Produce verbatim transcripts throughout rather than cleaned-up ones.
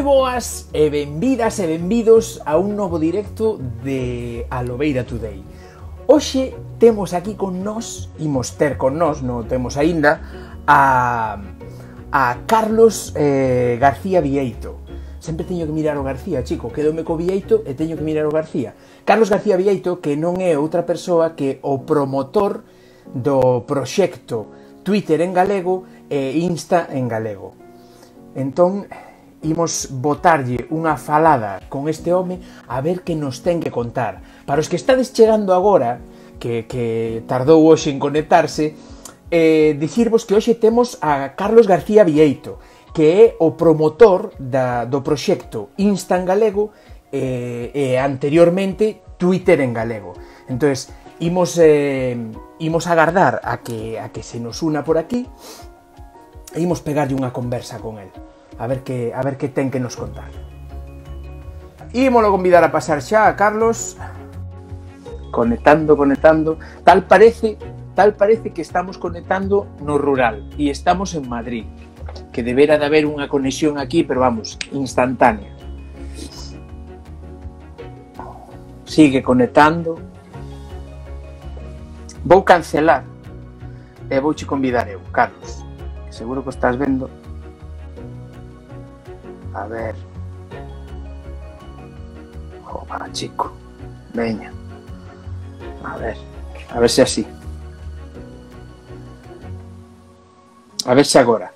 Moi boas e benvidas e benvidos a un novo directo de Alobeira Today. Hoxe temos aquí con nós, imos ter con nós, non temos aínda, a, a Carlos eh, García Vieito. Sempre teño que mirar o García, chico, quedome co Vieito e teño que mirar o García. Carlos García Vieito, que non é outra persoa que o promotor do proxecto Twitter en galego e Insta en galego. Entón, imos botarlle unha falada con este home a ver que nos ten que contar. Para os que estades chegando agora, que, que tardou hoxe en conectarse, eh, dicirvos que hoxe temos a Carlos García Vieito, que é o promotor da, do proxecto Insta en galego e, e anteriormente Twitter en galego. Entón, imos, eh, imos agardar a que, a que se nos una por aquí e imos pegarlle unha conversa con el. A ver que, a ver que ten que nos contar. Ímolo convidar a pasar xa a Carlos. Conectando, conectando. Tal parece, tal parece que estamos conectando no rural. E estamos en Madrid. Que debera de haber unha conexión aquí, pero vamos, instantánea. Sigue conectando. Vou cancelar. E vouche convidar eu, Carlos. Seguro que estás vendo. A ver. Joder, chico. Veña. A ver. A ver se así. A ver se agora.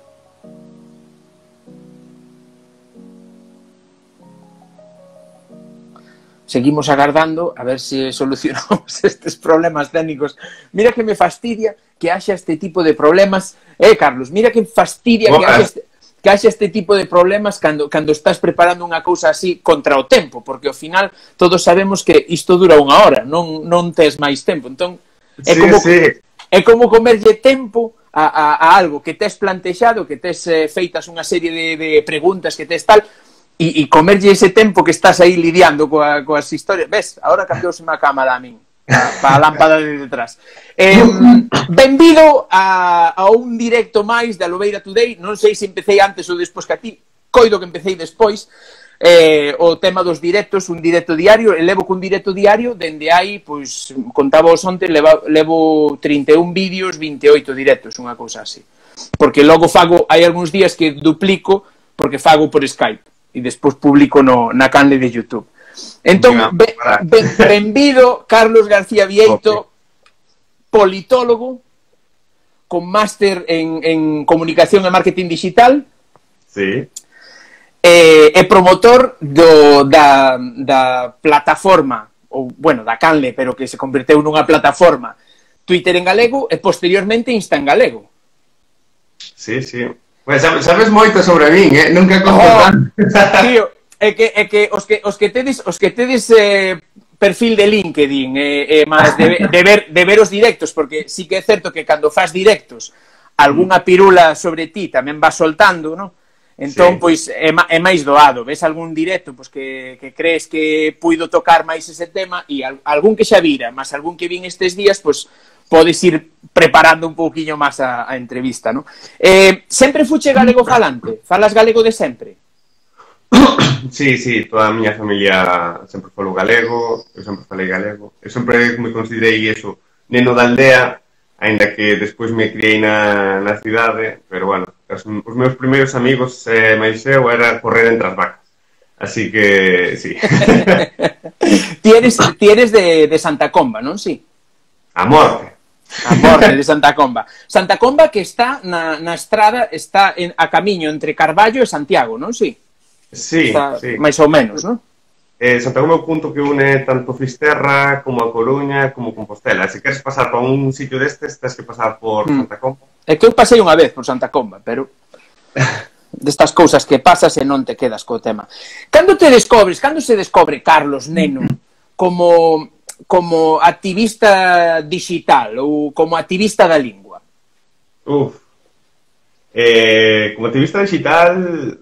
Seguimos agardando a ver se solucionamos estes problemas técnicos. Mira que me fastidia que haxa este tipo de problemas. Eh, Carlos, mira que fastidia que haxa este... que haxa este tipo de problemas cando, cando estás preparando unha cousa así contra o tempo, porque ao final todos sabemos que isto dura unha hora, non, non tes máis tempo. Entón, é sí, como, sí. é como comerlle tempo a, a, a algo que tes plantexado, que tes eh, feitas unha serie de, de preguntas que tes tal, e, e comerlle ese tempo que estás aí lidiando coa, coas historias. Ves, agora cambióseme a cámara a min. Para a lámpada de detrás. Eh, benvido a, a un directo máis de Alobeira Today. Non sei se empecé antes ou despois que a ti. Coido que empecé despois. Eh, o tema dos directos, un directo diario. E levo cun directo diario dende aí, pois, contaba os onte, levo, levo trinta e un vídeos, vinte e oito directos, unha cousa así. Porque logo fago, hai algúns días que duplico, porque fago por Skype. E despois publico no, na canle de YouTube. Entón, ben, ben, benvido Carlos García Vieito, politólogo, con máster en, en comunicación e marketing digital, sí. e, e promotor do, da, da plataforma, ou, bueno, da canle, pero que se converteu nunha plataforma, Twitter en galego e posteriormente Insta en galego. Sí, sí. Pues, sabes moito sobre min, eh? Nunca conto oh, tanto. Tío, é que, é que os que os que tedes os que tedes eh, perfil de LinkedIn e eh, eh, máis de, de ver de ver os directos, porque sí que é certo que cando fas directos algunha pirula sobre ti tamén vas soltando, ¿no? Entón, sí. Pois é, é máis doado, ves algún directo pois que, que crees que puido tocar máis ese tema e al, algún que xa vira, máis algún que vin estes días, pois podes ir preparando un pouquiño máis a, a entrevista, ¿no? Eh, sempre fuche galego falante? Falas galego de sempre? Sí, sí, toda a miña familia sempre falou galego, eu sempre falei galego. Eu sempre me considerei eso, neno da aldea, aínda que despois me criei na, na cidade, pero bueno, os, os meus primeiros amigos eh, máis eu era correr entre as vacas. Así que, sí. Tienes, tienes de, de Santa Comba, non? Sí. A morte. A morte de Santa Comba. Santa Comba que está na, na estrada, está en, a camiño entre Carballo e Santiago, non? Sí. Sí, está sí. Máis ou menos, non? Eh, Santa Comba é o punto que une tanto Fisterra como a Coruña como Compostela. Se queres pasar para un sitio destes, tens que pasar por mm. Santa Comba. É que eu pasei unha vez por Santa Comba, pero destas cousas que pasas e non te quedas co tema. Cando te descobres, cando se descobre Carlos Neno como, como activista digital ou como activista da lingua? Uf. Eh, como activista digital...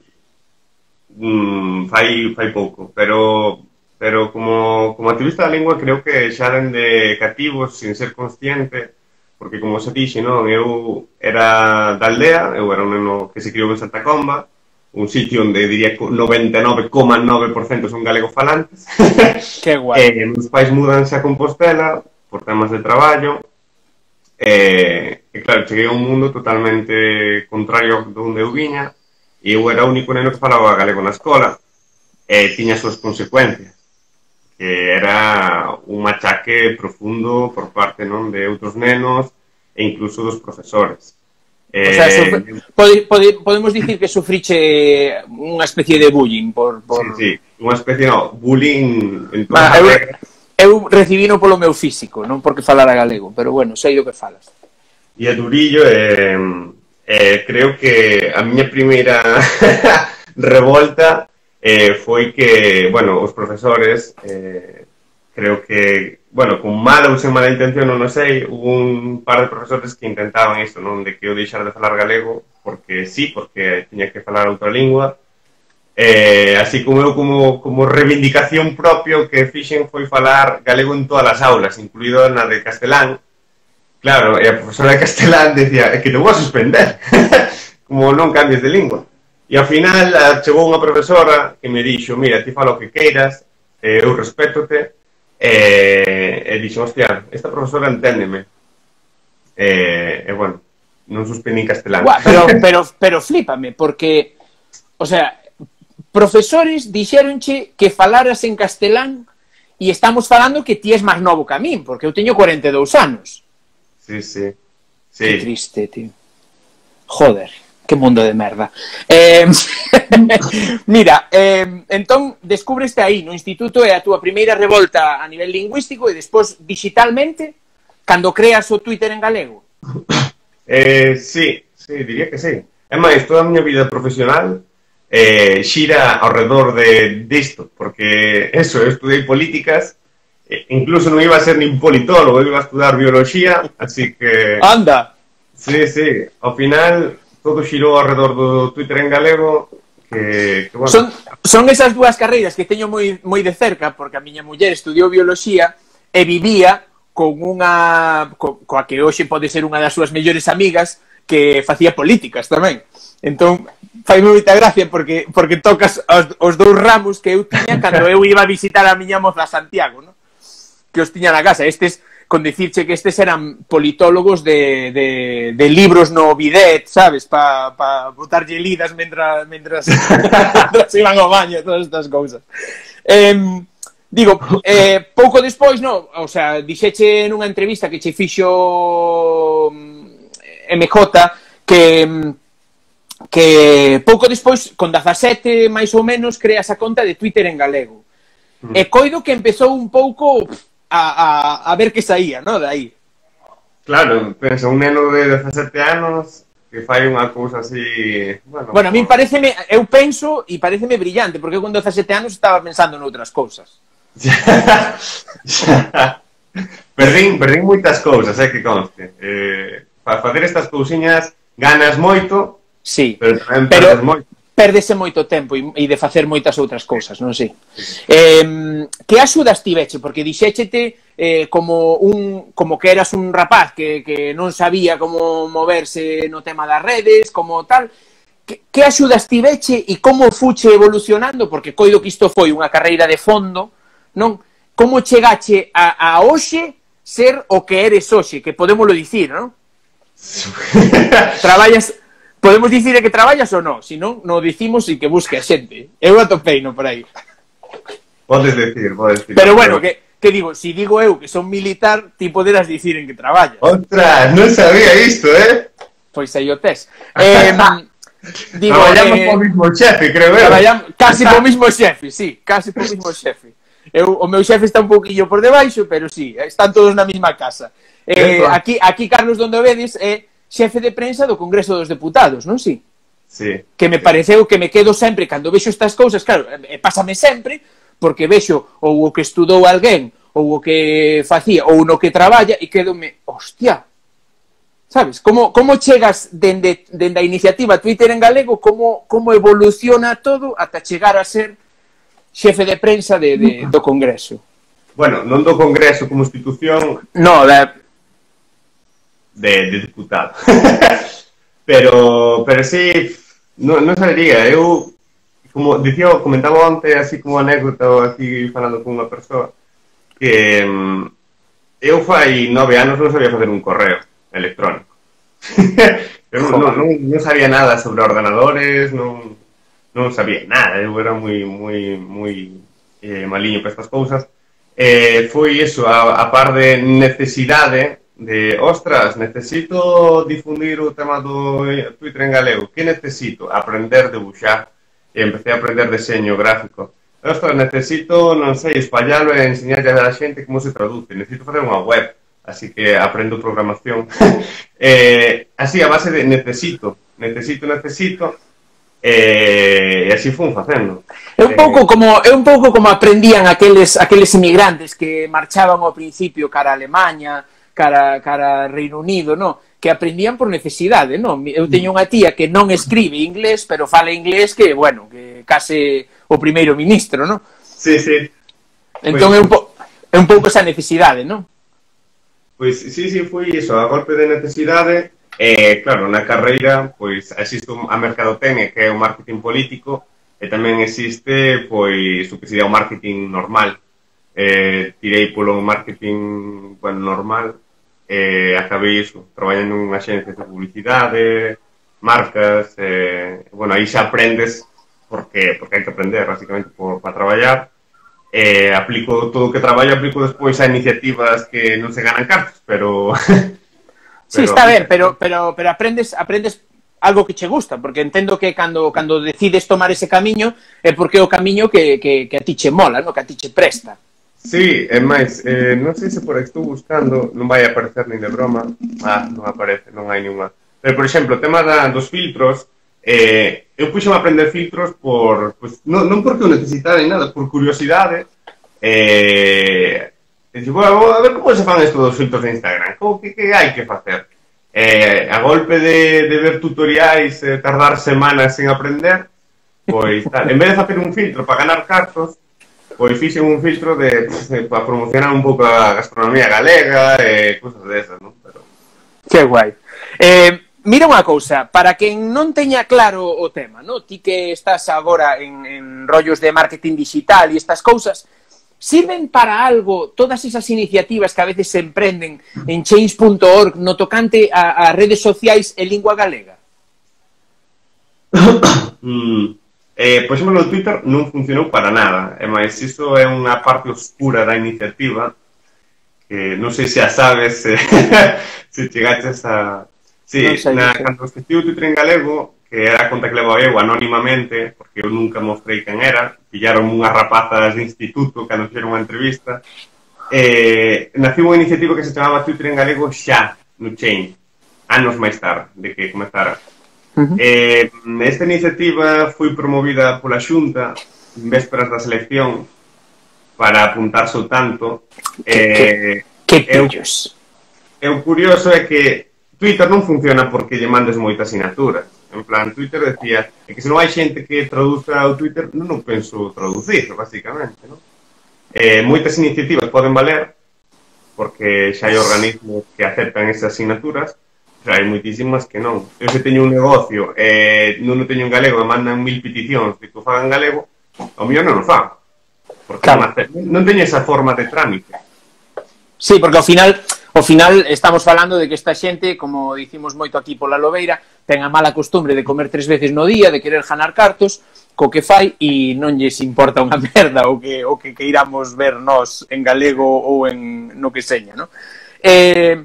Mm, fai, fai pouco, pero pero como, como activista da lingua creo que xa dende cativos sin ser consciente, porque como se dixe, non, eu era da aldea, eu era un neno que se criou en Santa Comba, un sitio onde diría que noventa e nove coma nove por cento son galegofalantes. Que guai. Eh, meus pais mudanse a Compostela por temas de traballo. E, e claro, cheguei a un mundo totalmente contrario de onde eu viña, e eu era o único neno que falaba galego na escola, e tiña as súas consecuencias, que era un machaque profundo por parte non de outros nenos e incluso dos profesores. O sea, eh, pode, pode, podemos dicir que sufriche unha especie de bullying por... por... Sí, sí, unha especie, no, bullying en toda ah, a eu, regra. Eu recibino polo meu físico, non porque falara galego, pero bueno, sei do que falas. E a Durillo, eh, eh, creo que a miña primeira revolta eh, foi que, bueno, os profesores, eh, creo que, bueno, con mala ou sen mala intención, non o sei, hubo un par de profesores que intentaban isto, non, de que eu deixara de falar galego, porque sí, porque tiña que falar outra lingua. Eh, así como eu como, como reivindicación propia o que fixen foi falar galego en todas as aulas, incluído na de castelán. Claro, e a profesora de castelán decía, é que te vou a suspender, como non cambies de lingua. E ao final chegou unha profesora que me dixo, mira, ti fala o que queiras, eh, eu respétote, eh, e dixo, hostia, esta profesora enténdeme. E, eh, bueno, non suspendín castelán. Guau, pero, pero, pero flípame, porque, o sea, profesores dixéronche que falaras en castelán e estamos falando que ti és máis novo que a min, porque eu teño cuarenta e dous anos. Sí, sí. sí. Que triste, tío. Joder, que mundo de merda. Eh, mira, eh, entón, descubreste aí no instituto é a túa primeira revolta a nivel lingüístico e despois digitalmente, cando creas o Twitter en galego. Eh, sí, sí, diría que sí. É máis, toda a miña vida profesional Eh, xira ao redor de disto, porque eso, eu estudei políticas, eh, incluso non iba a ser nin politólogo, eu iba a estudar biología, así que... Anda! Sí, sí, ao final todo xirou ao redor do Twitter en galego, que, que bueno... Son, son esas dúas carreiras que teño moi, moi de cerca, porque a miña muller estudiou biología e vivía con unha... Co, coa que hoxe pode ser unha das súas mellores amigas, que facía políticas tamén. Entón, faime moita gracia porque porque tocas os, os dous ramos que eu tiña cando eu iba a visitar a miña moza a Santiago, ¿no? Que os tiña na casa. Estes, con dicirche que estes eran politólogos de, de, de libros no bidet, sabes? Pa, pa botarlle lidas mentras, mentras, mentras iban ao baño e todas estas cousas. Eh, digo, eh, pouco despois, no, o sea, dixeche nunha entrevista que che fixo M J que... que pouco despois, con dezasete máis ou menos, creas a conta de Twitter en galego. Mm. E coido que empezou un pouco a, a, a ver que saía, non? De aí. Claro, pensa, un neno de dezasete anos que fai unha cousa así... Bueno, bueno, a min pareceme, eu penso e pareceme brillante, porque eu con dezasete anos estaba pensando noutras cousas. perdín, perdín moitas cousas, é eh, que conste. Eh, para facer estas cousiñas ganas moito. Sí, pero tamén pero perdes moito. Perdese moito tempo e de facer moitas outras cousas, non sei. Eh, que axudas tiveche? Porque dixéchete eh, como un como que eras un rapaz que, que non sabía como moverse no tema das redes, como tal. Que, que axudas tiveche e como fuche evolucionando? Porque coido que isto foi unha carreira de fondo, non? Como chegache a, a hoxe ser o que eres hoxe? Que podémoslo dicir, non? Traballas... Podemos dicir que traballas ou non? Se non, non dicimos e que busque a xente. Eu atopei no por aí. Podes decir, podes decir. Pero bueno, que, que digo, se digo eu que son militar, ti poderás dicir en que traballas. Ostras, non sabía isto, eh? Pois aí o tes. Eh, digo, traballamos eh, co mismo xefe, creo eu. Traballamos casi co mismo xefe, sí, casi co mismo xefe. Eu, o meu xefe está un pouquillo por debaixo, pero sí, están todos na mesma casa. Eh, aquí, aquí Carlos donde vedes é... Eh, xefe de prensa do Congreso dos Deputados, non si? Sí. Que me pareceu que me quedo sempre, cando vexo estas cousas, claro, e pásame sempre, porque vexo ou o que estudou alguén, ou o que facía, ou no que traballa, e quedome, hostia, sabes? Como, como chegas dende, dende a iniciativa Twitter en galego, como, como evoluciona todo ata chegar a ser xefe de prensa de, de, do Congreso? Bueno, non do Congreso como institución... No, da... De, de diputado. pero, pero sí, non, non sabería. Eu como dicía, comentaba onte así como anécdota aquí falando con unha persoa que um, eu fai nove anos non sabía facer un correo electrónico. eu non, non, non sabía nada sobre ordenadores, non, non sabía nada, eu era moi moi moi eh, maliño para estas cousas. Eh, foi iso, a, a par de necesidade de, ostras, necesito difundir o tema do Twitter en galego. Que necesito? Aprender a debuxar. E empecé a aprender deseño gráfico. Ostras, necesito, non sei, espallalo e enseñarlle a xente como se traduce. Necesito facer unha web. Así que aprendo programación. eh, así, a base de necesito, necesito, necesito, e eh, así fun facendo. É un pouco como é un pouco como aprendían aqueles aqueles inmigrantes que marchaban ao principio cara a Alemanha, cara cara a Reino Unido, no? Que aprendían por necesidade, non? Eu teño unha tía que non escribe inglés, pero fala inglés que, bueno, que case o primeiro ministro, non? Sí, sí. Entón é un, po é un pouco esa necesidade, non? Pois, sí, sí, foi iso, a golpe de necesidade, e, claro, na carreira, pois, existe a mercadotecnia, que é o marketing político, e tamén existe, pois, o que sería o marketing normal. Eh, tirei polo marketing, bueno, normal, e acabei iso, traballando en axencias de publicidade, marcas, e, bueno, aí xa aprendes, porque, porque hai que aprender, basicamente, por, para traballar. Eh, aplico todo o que traballo, aplico despois a iniciativas que non se ganan cartos, pero... pero sí, está ben, pero, pero, pero aprendes, aprendes algo que che gusta, porque entendo que cando, cando decides tomar ese camiño é porque é o camiño que, que, que a ti che mola, no? Que a ti che presta. Sí, é máis, eh, non sei se por aí estou buscando, non vai aparecer nin de broma. Ah, non aparece, non hai ninguna. Pero, por exemplo, o tema da, dos filtros, eh, eu puxo a aprender filtros por, pues, non, non porque o necesitara ni nada, por curiosidade. Eh, e digo, bueno, a ver como se fan estos dos filtros de Instagram, como que, que hai que facer? Eh, a golpe de, de ver tutoriais, eh, tardar semanas en aprender, pois tal, en vez de facer un filtro para ganar cartos, pois fixen un filtro de, de para promocionar un pouco a gastronomía galega e cousas desas, non? Pero... Que guai. Eh, mira unha cousa, para quen non teña claro o tema, no? Ti que estás agora en, en rollos de marketing digital e estas cousas, sirven para algo todas esas iniciativas que a veces se emprenden en change punto org no tocante a, a redes sociais en lingua galega? mm. Eh, por exemplo, no Twitter non funcionou para nada, e máis iso é unha parte oscura da iniciativa que non sei se a sabes se, se chegaches a... Sí, no sei, na, cando esqueci o Twitter en galego, que era a conta que levaba eu anónimamente, porque eu nunca mostrei quen era, pillaron unhas rapazas de instituto cando fixeron unha entrevista, eh, nació unha iniciativa que se chamaba Twitter en galego xa, no Change, anos máis tarde de que comezara. Uh-huh. eh, esta iniciativa foi promovida pola Xunta en vésperas da selección para apuntarse ao tanto. Que, eh, que, que pillos. E o curioso é que Twitter non funciona porque lle mandes moitas asignaturas. En plan, Twitter decía é que se non hai xente que traduza ao Twitter, non penso traducir, basicamente, non? Eh, moitas iniciativas poden valer porque xa hai organismos que aceptan esas asignaturas. Pero hai moitísimas que non. Eu se teño un negocio e eh, non o teño en galego e mandan mil peticións de que o fagan en galego, ao mellor non o fan. Porque claro. non, non teño esa forma de trámite. Sí, porque ao final, ao final estamos falando de que esta xente, como dicimos moito aquí pola Lobeira, ten a mala costumbre de comer tres veces no día, de querer ganar cartos, co que fai e non lles importa unha merda o que, o que queiramos ver nós en galego ou en no que seña, non? Eh...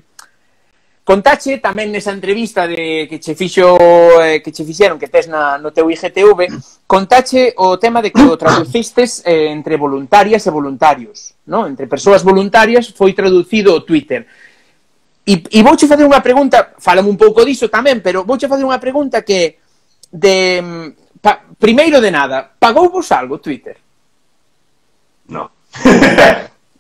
Contache tamén nesa entrevista de que che fixo eh, que che fixeron que tes na, no teu I G T V, contache o tema de que o traducistes eh, entre voluntarias e voluntarios, no? Entre persoas voluntarias foi traducido o Twitter. E, e vouche facer unha pregunta, fálame un pouco diso tamén, pero vouche facer unha pregunta que de pa, primeiro de nada, pagou vos algo Twitter? No.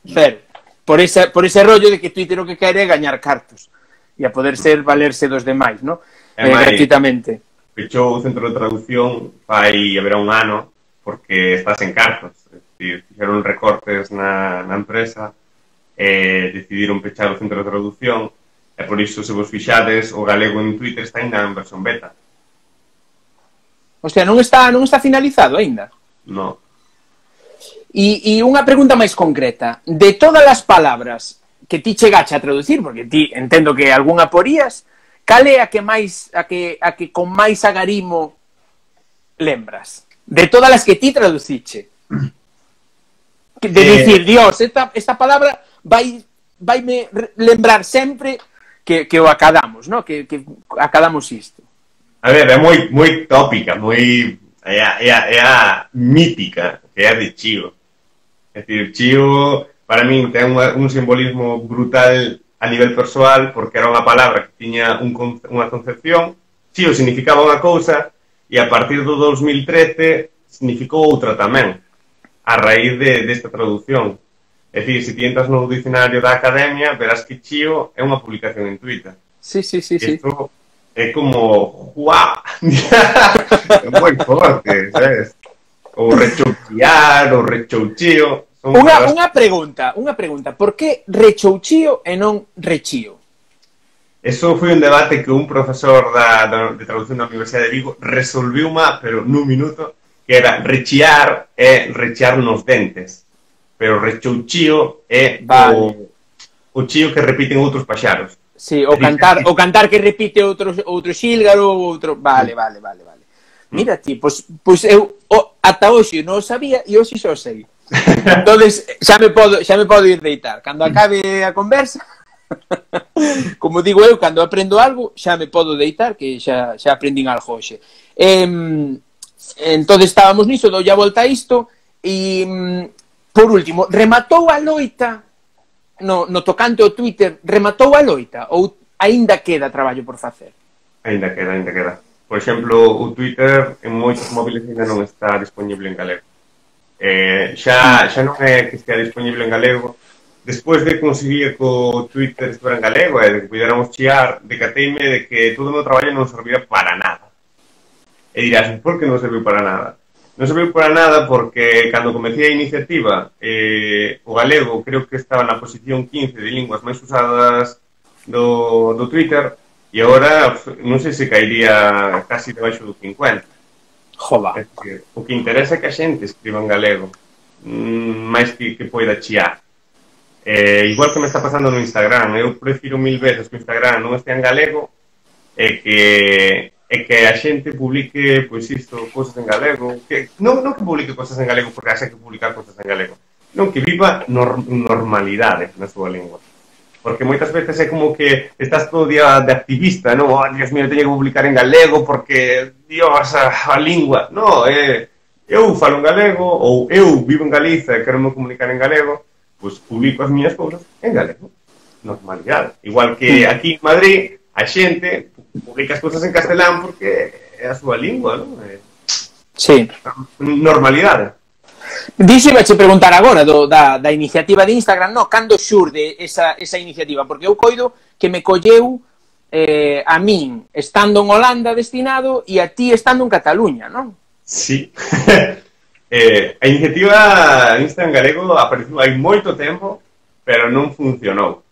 Cero. Por ese, por ese rollo de que Twitter o que quere é gañar cartos. E a poder ser valerse dos demais, non? Eh, gratuitamente. Fechou o centro de traducción fai haberá un ano porque estás en cartos. É dicir, fixeron recortes na, na empresa e decidiron pechar o centro de traducción e por iso, se vos fixades, o galego en Twitter está ainda en versión beta. O sea, non está, non está finalizado aínda. No. E, e unha pregunta máis concreta. De todas as palabras que ti chegache a traducir, porque ti entendo que algunha porías, cal é a que máis a que, a que con máis agarimo lembras? De todas as que ti traduciche. De eh... dicir, Dios, esta, esta palabra vai vaime lembrar sempre que, que o acadamos, ¿no? Que, que acadamos isto. A ver, é moi, moi tópica, moi... É a, é a, é a mítica, que é a de Chío. É dicir, Chío, para min, ten un, un simbolismo brutal a nivel persoal, porque era unha palabra que tiña un, unha concepción. Chío significaba unha cousa, e a partir do dos mil trece significou outra tamén, a raíz de, desta traducción. É dicir, se ti entras no dicionario da Academia, verás que Chío é unha publicación en Twitter. Sí, sí, sí, sí. Esto é como... ¡Guau! É moi forte, sabes? O rechouchear, o rechouchío... Unha, unha pregunta, unha pregunta. Por que rechouchío e non rechío? Eso foi un debate que un profesor da, da, de traducción da Universidade de Vigo resolviu má, pero nun minuto, que era rechiar e rechear nos dentes. Pero rechouchío é vale. o, o chío que repiten outros paxaros. Sí, o cantar, o cantar que repite outro, outro xílgaro, outro... Vale, vale, vale, vale. Mira ti, pois, pois eu o, ata hoxe non o sabía e hoxe xa o sei. Entonces, xa me podo, xa me podo ir deitar. Cando acabe a conversa, como digo eu, cando aprendo algo, xa me podo deitar, que xa, xa aprendín algo hoxe. Eh, entón, estábamos niso, dou a volta a isto, e, por último, rematou a loita, no, no tocante ao Twitter, rematou a loita, ou aínda queda traballo por facer? Aínda queda, aínda queda. Por exemplo, o Twitter en moitos móviles ainda non está disponible en galego. Eh, xa, xa non é que estea disponible en galego. Despois de conseguir que o Twitter estivera en galego e de que pudiéramos chiar, decateime de que todo o meu traballo non servia para nada. E dirás, por que non serviu para nada? Non serviu para nada porque cando comecei a iniciativa eh, o galego creo que estaba na posición quince de linguas máis usadas do, do Twitter e agora non sei se caería casi debaixo do cincuenta. Joba. É que, o que interesa é que a xente escriba en galego, mmm, máis que, que poida chiar. Eh, igual que me está pasando no Instagram, eu prefiro mil veces que o Instagram non estea en galego e que, e que a xente publique, pois isto, cosas en galego, que non, non que publique cosas en galego porque haxe que publicar cosas en galego, non, que viva nor, normalidade na súa lingua. Porque moitas veces é como que estás todo día de activista, non? Oh, Dios mío, teño que publicar en galego porque, Dios, a, a lingua. Non, é, eu falo en galego, ou eu vivo en Galiza e quero me comunicar en galego, pois publico as miñas cousas en galego. Normalidade. Igual que aquí en Madrid, a xente publica as cousas en castelán porque é a súa lingua, non? É, sí. Normalidade. Dixo iba che preguntar agora do, da, da iniciativa de Instagram, no, cando xurde esa, esa iniciativa, porque eu coido que me colleu eh, a min estando en Holanda destinado e a ti estando en Cataluña, non? Sí. eh, a iniciativa Instagram galego apareceu hai moito tempo, pero non funcionou.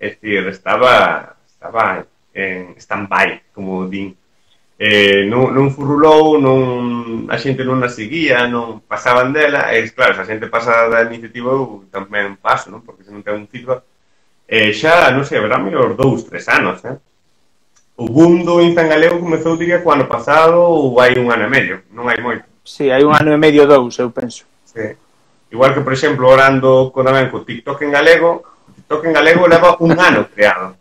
É dicir, estaba, estaba en stand-by, como din. Eh, non, non furrulou, non, a xente non a seguía, non pasaban dela, e claro, se a xente pasa da iniciativa eu tamén paso, non? Porque se non ten un feedback, eh, xa, non sei, haberá mellor dous, tres anos, eh? O boom do Insta en galego comezou, diría, co ano pasado ou hai un ano e medio, non hai moito. Sí, hai un ano e medio, dous, eu penso. Sí. Igual que, por exemplo, orando con tamén co TikTok en galego, o TikTok en galego leva un ano creado,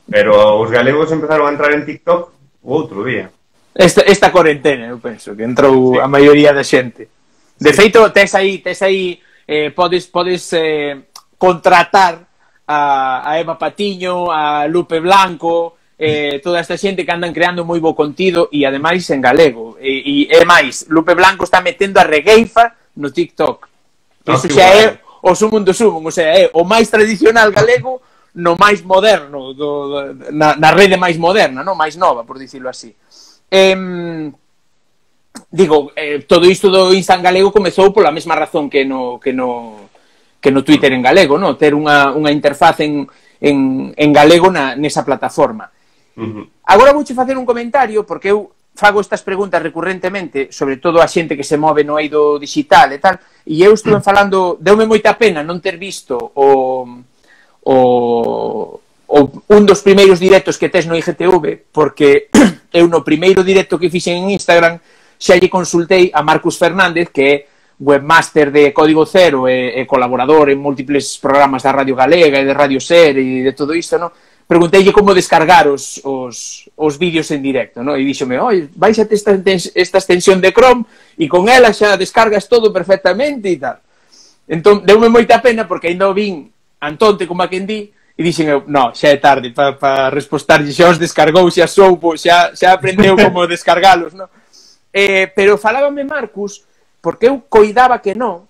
pero os galegos empezaron a entrar en TikTok o outro día. Esta, esta cuarentena, eu penso, que entrou sí. A maioría da xente. De sí. Feito, tes aí, tes aí eh, podes, podes eh, contratar a, a Eva Patiño, a Lupe Blanco, eh, toda esta xente que andan creando moi bo contido e ademais en galego. E, e, e máis, Lupe Blanco está metendo a regueifa no TikTok. Iso xa é o sumum do sumum, o sea, é o máis tradicional galego no máis moderno, do, do, na, na rede máis moderna, no? Máis nova, por dicirlo así. Eh, digo, eh, todo isto do Insta en galego comezou pola mesma razón que no, que no, que no Twitter en galego, no? Ter unha, unha interfaz en, en, en galego na, nesa plataforma. Uh-huh. Agora vouche facer un comentario, porque eu fago estas preguntas recurrentemente, sobre todo a xente que se move no eido digital e tal, e eu estuve falando, deume moita pena non ter visto o, o, o un dos primeiros directos que tes no I G T V, porque eu no primeiro directo que fixen en Instagram xa lle consultei a Marcus Fernández, que é webmaster de Código Cero e, e colaborador en múltiples programas da Radio Galega e de Radio Ser e de todo isto, non? Pregunteille como descargar os, os, os vídeos en directo, no? E díxome, oi, baixate esta, esta extensión de Chrome e con ela xa descargas todo perfectamente e tal. Entón, deume moita pena porque ainda o vin antonte como a quen di e dixen eu, no, xa é tarde para pa respostarlle, xa os descargou, xa soupo, xa, xa aprendeu como descargalos, no? Eh, pero falábame Marcus porque eu coidaba que non,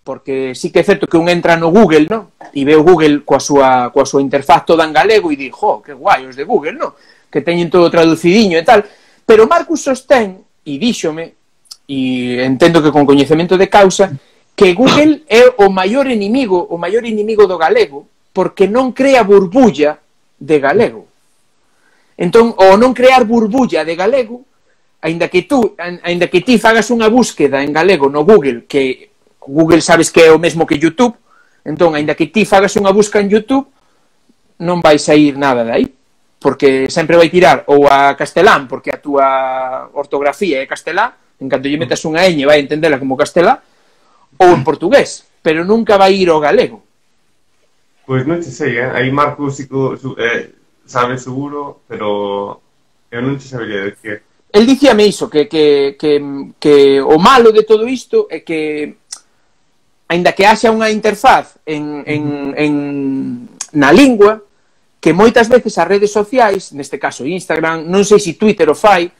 porque sí que é certo que un entra no Google, no? E ve o Google coa súa, coa súa interfaz toda en galego e di, jo, que guai os de Google, no? Que teñen todo traducidiño e tal. Pero Marcus sostén, e díxome, e entendo que con coñecemento de causa, que Google é o maior inimigo, o maior inimigo do galego, porque non crea burbulla de galego. Entón, o non crear burbulla de galego, aínda que tú, aínda que ti fagas unha búsqueda en galego no Google, que Google sabes que é o mesmo que YouTube, entón, aínda que ti fagas unha busca en YouTube, non vai sair nada de aí, porque sempre vai tirar ou a castelán, porque a túa ortografía é castelá, en canto lle metas unha ñ vai entendela como castelá, ou en portugués, pero nunca vai ir ao galego. Pois non che sei, eh? Aí Marcos eh, sabe seguro, pero eu non che sabería decir. El dicíame iso, que, que, que, que o malo de todo isto é que aínda que haxa unha interfaz en, en, en, na lingua, que moitas veces as redes sociais, neste caso Instagram, non sei se Twitter o fai,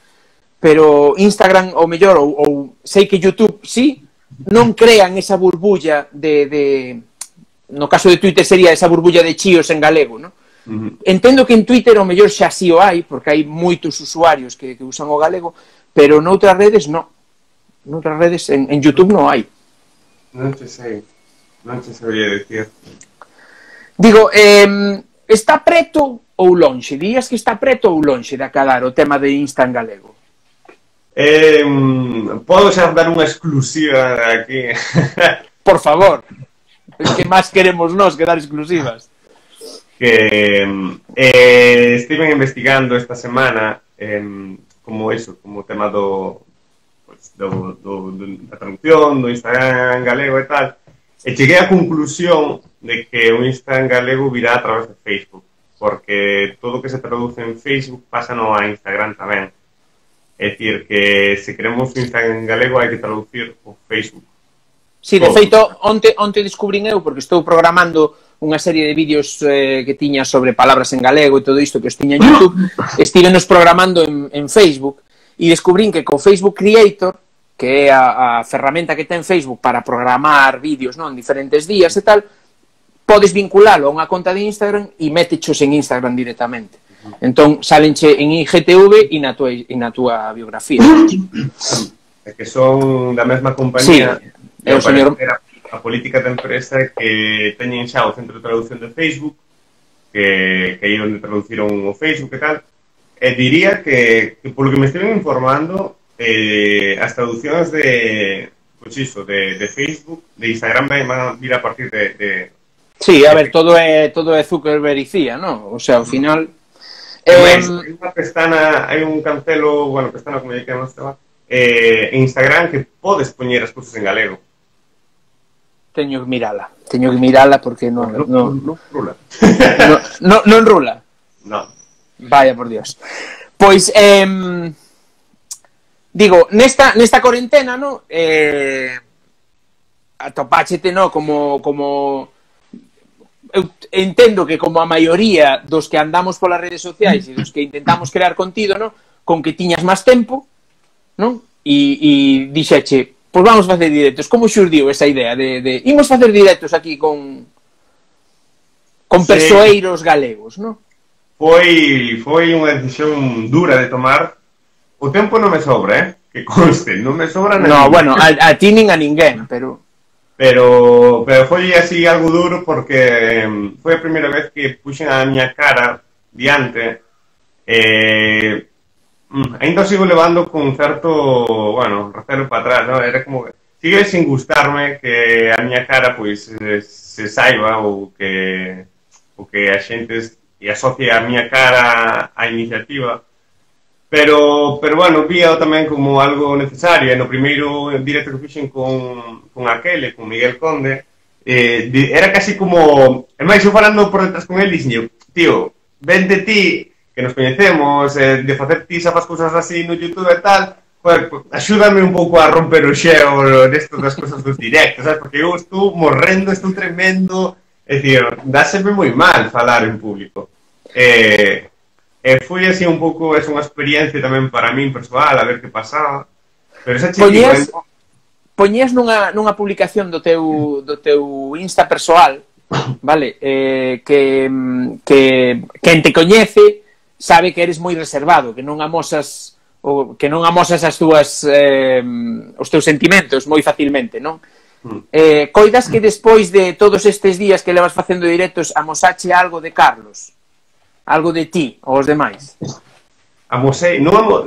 pero Instagram o mellor, ou, ou sei que YouTube sí, non crean esa burbulla de, de... No caso de Twitter sería esa burbulla de chíos en galego, non? Uh-huh. Entendo que en Twitter o mellor xa sí o hai, porque hai moitos usuarios que, que usan o galego, pero noutras redes non. Noutras redes, en, en YouTube non hai. Non te sei, non te sabría decir. Digo, eh, está preto ou lonxe? Dirías que está preto ou lonxe de acadar o tema de Insta en galego? Eh, podo xa dar unha exclusiva aquí. Por favor. Es que máis queremos nós que dar exclusivas. Que eh, estiven investigando esta semana eh, como eso, como tema do... Do, do, do, da traducción, do Instagram en galego e tal, e cheguei á conclusión de que o Instagram en galego virá a través de Facebook, porque todo o que se traduce en Facebook pasa no a Instagram tamén. É dicir, que se queremos o Instagram en galego hai que traducir o Facebook. Si, sí, de feito, onte, onte descubrín eu, porque estou programando unha serie de vídeos eh, que tiña sobre palabras en galego e todo isto que os tiña en YouTube, estivenos programando en, en Facebook, e descubrín que co Facebook Creator, que é a, a ferramenta que ten Facebook para programar vídeos, non, en diferentes días e tal, podes vinculalo a unha conta de Instagram e métechos en Instagram directamente. Entón, salenche en I G T V e na tua, e na tua biografía. É que son da mesma compañía. Sí, é o señor... A política da empresa que teñen xa o centro de traducción de Facebook, que, que aí onde traduciron o Facebook e tal, e diría que, que polo que me estiven informando, eh, as traduccións de, pues iso, de, de Facebook, de Instagram van a vir a partir de... de sí, a ver, todo é todo é Zuckerberg e C I A, non? O sea, ao final... Eh, hai unha pestana, hai un cancelo, bueno, pestana como lle queremos chamar, eh, en Instagram que podes poñer as cousas en galego. Teño que mirala, teño que mirala porque non... Non no, no, no, rula. No, no, non rula? Non. Vaya, por Dios. Pois, eh, digo, nesta, nesta cuarentena, no, eh, atopáchete, no, como, como, eu entendo que como a maioría dos que andamos polas redes sociais e dos que intentamos crear contido, no, con que tiñas máis tempo, non? E, e dixeche, pois vamos facer directos. Como xurdiu esa idea de, de imos facer directos aquí con con sí. Persoeiros galegos, non? Foi, foi unha decisión dura de tomar. O tempo non me sobra, eh? Que conste, non me sobra nada. No, bueno, a, a ti nin a ninguén, pero... Pero, pero foi así algo duro porque foi a primeira vez que puxen a miña cara diante eh, mm, ainda o sigo levando con certo, bueno, recelo para atrás, ¿no? Era como que sigue sin gustarme que a miña cara, pois, se, se saiba ou que, ou que a xente e asocie a miña cara á iniciativa. Pero, pero bueno, víao tamén como algo necesario. E no primeiro directo que fixen con, con aquele, con Miguel Conde, eh, era casi como... E máis, eu falando por detrás con él, dixen, tío, vente ti, que nos coñecemos, eh, de facer ti sabas cousas así no YouTube e tal, joder, axúdame un pouco a romper o xeo nesto das cousas dos directos, sabes? Porque eu estou morrendo, estou tremendo, é dicir, dáseme moi mal falar en público. Eh... E foi así un pouco, é unha experiencia tamén para min persoal, a ver que pasaba. Pero esa Poñías, digo, poñías nunha, nunha publicación do teu, do teu Insta persoal, vale, eh, que, que quen te coñece sabe que eres moi reservado, que non amosas o, que non amosas as túas eh, os teus sentimentos moi facilmente, non? Mm. Eh, coidas que despois de todos estes días que levas facendo directos amosache algo de Carlos? Algo de ti ou os demais? Amosei, non amo...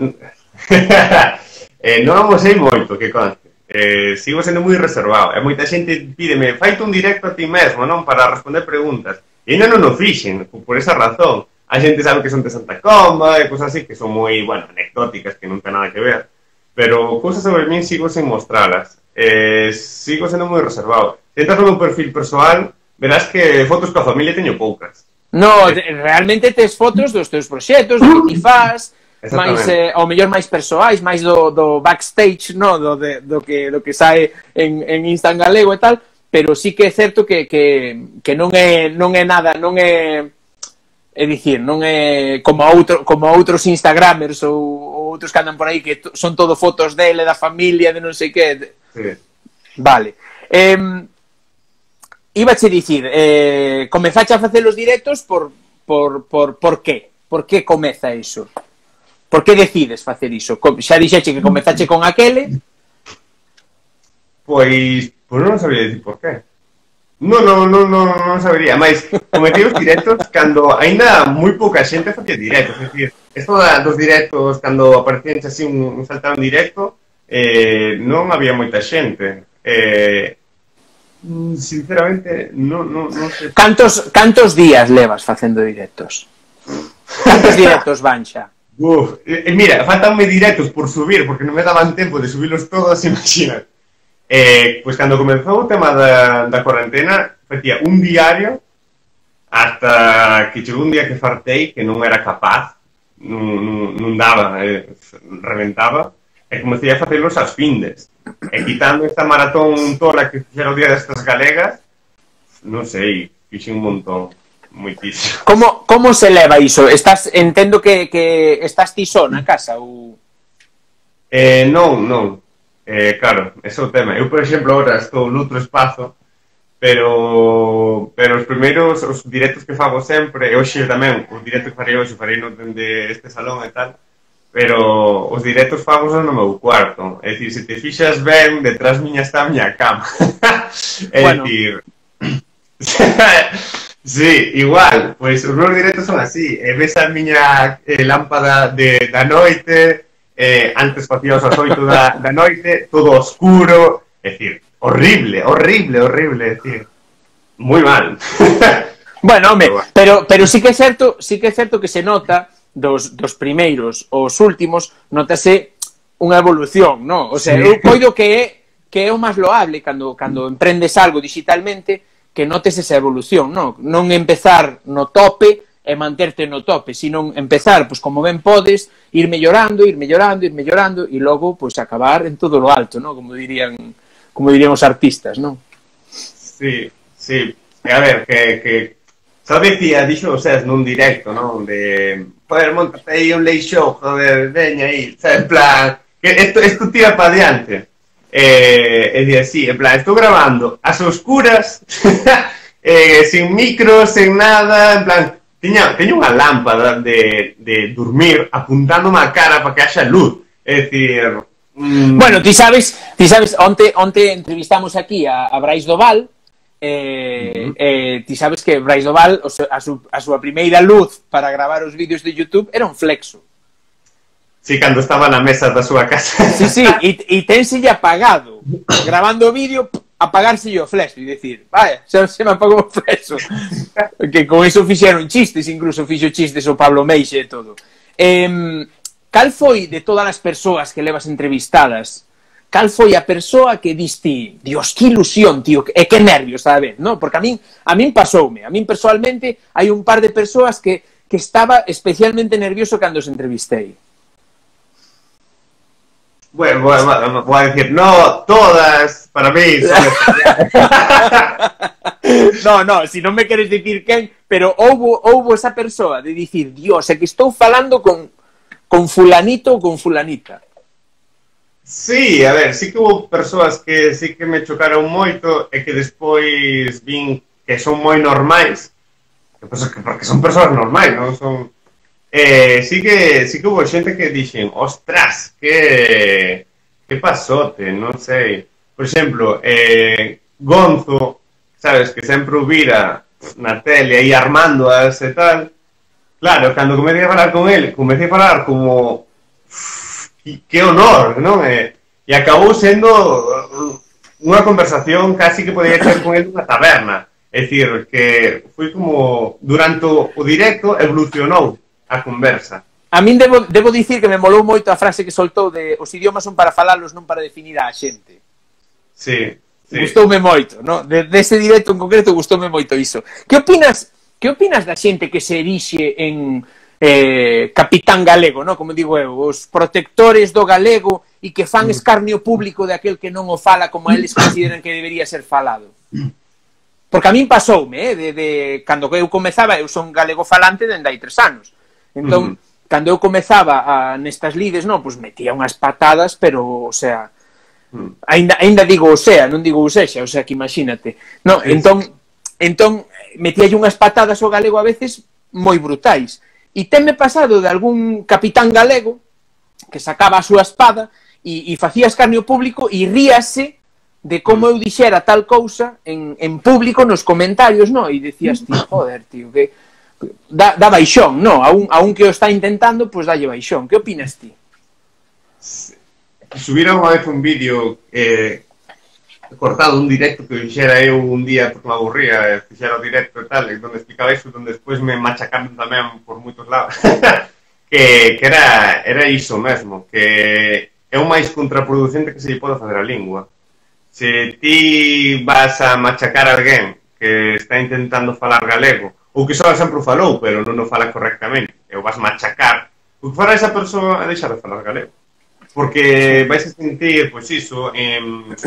eh, non amosei moito, que conste. Eh, sigo sendo moi reservado. E moita xente pídeme, faite un directo a ti mesmo, non? Para responder preguntas. E ainda non o fixen, por esa razón. A xente sabe que son de Santa Comba e cosas así, que son moi, bueno, anecdóticas, que non ten nada que ver. Pero cousas sobre min sigo sen mostralas. Eh, sigo sendo moi reservado. Se entras no meu perfil persoal, verás que fotos coa familia teño poucas. No, realmente tes fotos dos teus proxectos, do que ti faz, máis, eh, ao mellor máis persoais, máis do, do backstage, no? do, de, do, que, do que sae en, en Insta en galego e tal, pero sí que é certo que, que, que non é non é nada, non é é dicir, non é como outro, como outros Instagramers ou, ou outros que andan por aí que son todo fotos dele, da familia, de non sei que. Sí. Vale. Eh, Ibache dicir, eh, comezache a facer os directos por, por, por, por qué? Por que comeza iso? Por que decides facer iso? Xa dixeche que comezache con aquele? Pois, pois non sabía dicir por qué. Non, non, non, non, non sabería. Mais, comecei os directos cando aínda moi pouca xente facía directos. É dicir, esto dos directos, cando aparecían así un, un saltado en directo, eh, non había moita xente. Eh... Sinceramente, no, no, no sé. Cantos, cantos días levas facendo directos? Cantos directos van xa? Uf, eh, mira, faltanme directos por subir, porque non me daban tempo de subirlos todos, imagina. Eh, pois cando comenzou o tema da, da cuarentena, facía un diario hasta que chegou un día que fartei, que non era capaz, non, non, non daba, eh, reventaba, e comecei a facelos as findes. E quitando esta maratón tola que fixera o día destas galegas, non sei, fixe un montón, moitísimo. Como, como se leva iso? Estás, entendo que, que estás ti só na casa, ou... Eh, non, non. Eh, claro, ese é o tema. Eu, por exemplo, agora estou noutro espazo, pero pero os primeiros, os directos que fago sempre, e hoxe tamén, os directos que farei hoxe, farei no dende este salón e tal, pero os directos fagos no meu cuarto. É dicir, se te fixas ben, detrás miña está a miña cama. É bueno. Dicir... sí, igual, pois os meus directos son así. E ves a miña eh, lámpada de, da noite, eh, antes facíamos as oito da, da noite, todo oscuro. É dicir, horrible, horrible, horrible, é dicir, moi mal. Bueno, home, pero, pero sí que é certo, sí que é certo que se nota dos, dos primeiros aos últimos, notase unha evolución, non? O sea, sí. Eu coido que é, que é o máis loable cando, cando emprendes algo digitalmente, que notes esa evolución, non? Non empezar no tope e manterte no tope, sino empezar, pois como ben podes, ir mellorando, ir mellorando, ir mellorando, e logo, pois, acabar en todo lo alto, non? Como dirían, como dirían os artistas, non? Sí, sí. A ver, que... que... Só decía, dixo o Cés nun directo, non? De, joder, montate aí un late show, joder, veña aí, sabes, en plan, que esto, esto tira para adiante. Eh, e día, sí, en plan, estou grabando as oscuras, eh, sin micro, sin nada, en plan, tiña, teño unha lámpada de, de dormir apuntándome a cara para que haxa luz. É dicir... Mm... Bueno, ti sabes, ti sabes, onte, onte entrevistamos aquí a, a Brais Doval, Eh, uh -huh. eh, ti sabes que Brais Doval a, su, a súa primeira luz para gravar os vídeos de YouTube era un flexo. Sí, cando estaba na mesa da súa casa. Sí, sí, e tenselle apagado. Grabando o vídeo, apagárselle o flash. E dicir, vaya, xa se me apagou o flash. Que con eso fixeron chistes, incluso fixo chistes o Pablo Meixe e todo. Eh, cal foi de todas as persoas que levas entrevistadas, cal foi a persoa que diste, Dios, que ilusión, tío, e que nervios, sabes, no? Porque a min, a min pasoume, a min personalmente hai un par de persoas que, que estaba especialmente nervioso cando os entrevistei. Bueno, voy a, voy a decir, no, todas, para mí son especiales. No, no, si non me queres dicir quen, pero houbo, houbo esa persoa de dicir, Dios, é que estou falando con, con fulanito ou con fulanita. Sí, a ver, sí que hubo persoas que sí que me chocaron moito e que despois vin que son moi normais, que, pues, que porque son persoas normais, non son... Eh, sí que sí que hubo xente que dixen, ostras, que que pasote, non sei. Por exemplo, eh, Gonzo, sabes, que sempre o vira na tele aí armándoas e tal. Claro, cando comecei a falar con ele, comecei a falar como que, que honor, non? E, e acabou sendo unha conversación casi que podía ter con ele nunha taberna. É dicir, que foi como durante o directo evolucionou a conversa. A min debo, debo dicir que me molou moito a frase que soltou de os idiomas son para falalos, non para definir a xente. Sí, sí. Gustoume moito, no? De, dese directo en concreto gustoume moito iso. Que opinas, que opinas da xente que se erixe en eh, capitán galego, no? Como digo eu, os protectores do galego e que fan escarnio público de aquel que non o fala como eles consideran que debería ser falado? Porque a min pasoume, eh, de, de, cando eu comezaba, eu son galego falante dende hai tres anos. Entón, uh -huh. cando eu comezaba a, nestas lides, non, pois metía unhas patadas, pero, o sea, uh -huh. ainda, ainda digo o sea, non digo o sexa, o sea, que imagínate. No, sí, entón, sí. entón, metía unhas patadas ao galego a veces moi brutais. E tenme pasado de algún capitán galego que sacaba a súa espada e, e facía escarnio público e ríase de como eu dixera tal cousa en, en público nos comentarios, no? E decías, tío, joder, tío, que... Da, da baixón, no, a un, a un que o está intentando, pois pues dalle baixón. Que opinas ti? Subira unha vez un vídeo eh, cortado, un directo que fixera eu un día porque me aburría, eh, fixera o directo e tal, donde explicaba iso, donde despois me machacaron tamén por moitos lados. que, que era, era iso mesmo, que é o máis contraproducente que se lle pode fazer a lingua. Se ti vas a machacar a alguén que está intentando falar galego, ou que só sempre o falou, pero non o fala correctamente, e o vas machacar, o que fará esa persoa é deixar de falar galego. Porque vais a sentir, pois iso, eh, un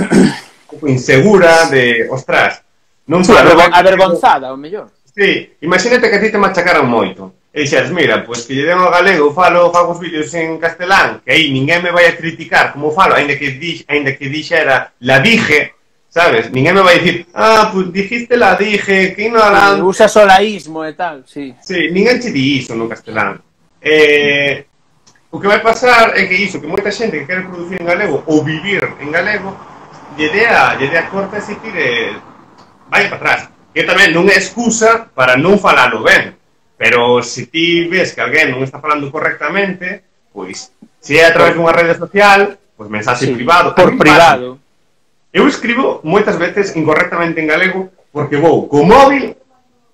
pouco insegura de, ostras, non sí, falo... avergonzada, o mellor. Sí, imagínate que a ti te machacaran moito, e dixeras, mira, pois que lle den ao galego, falo, fago os vídeos en castelán, que aí ninguén me vai a criticar como falo, ainda que, dix, ainda que dixera la dije, sabes? Ninguén me vai dicir, ah, pues dijiste la dije, que ignorante. Sí, usa solaísmo e tal, sí. Sí, ninguén che di iso no castelán. Eh, o que vai pasar é que iso, que moita xente que quere producir en galego ou vivir en galego, lle dea, lle dea corta e se tire, vai para atrás. Que tamén non é excusa para non falalo ben, pero se ti ves que alguén non está falando correctamente, pois, se é a través dunha rede social, pois mensaxe sí, privado. Por privado. Pasa. Eu escribo moitas veces incorrectamente en galego porque vou co móvil,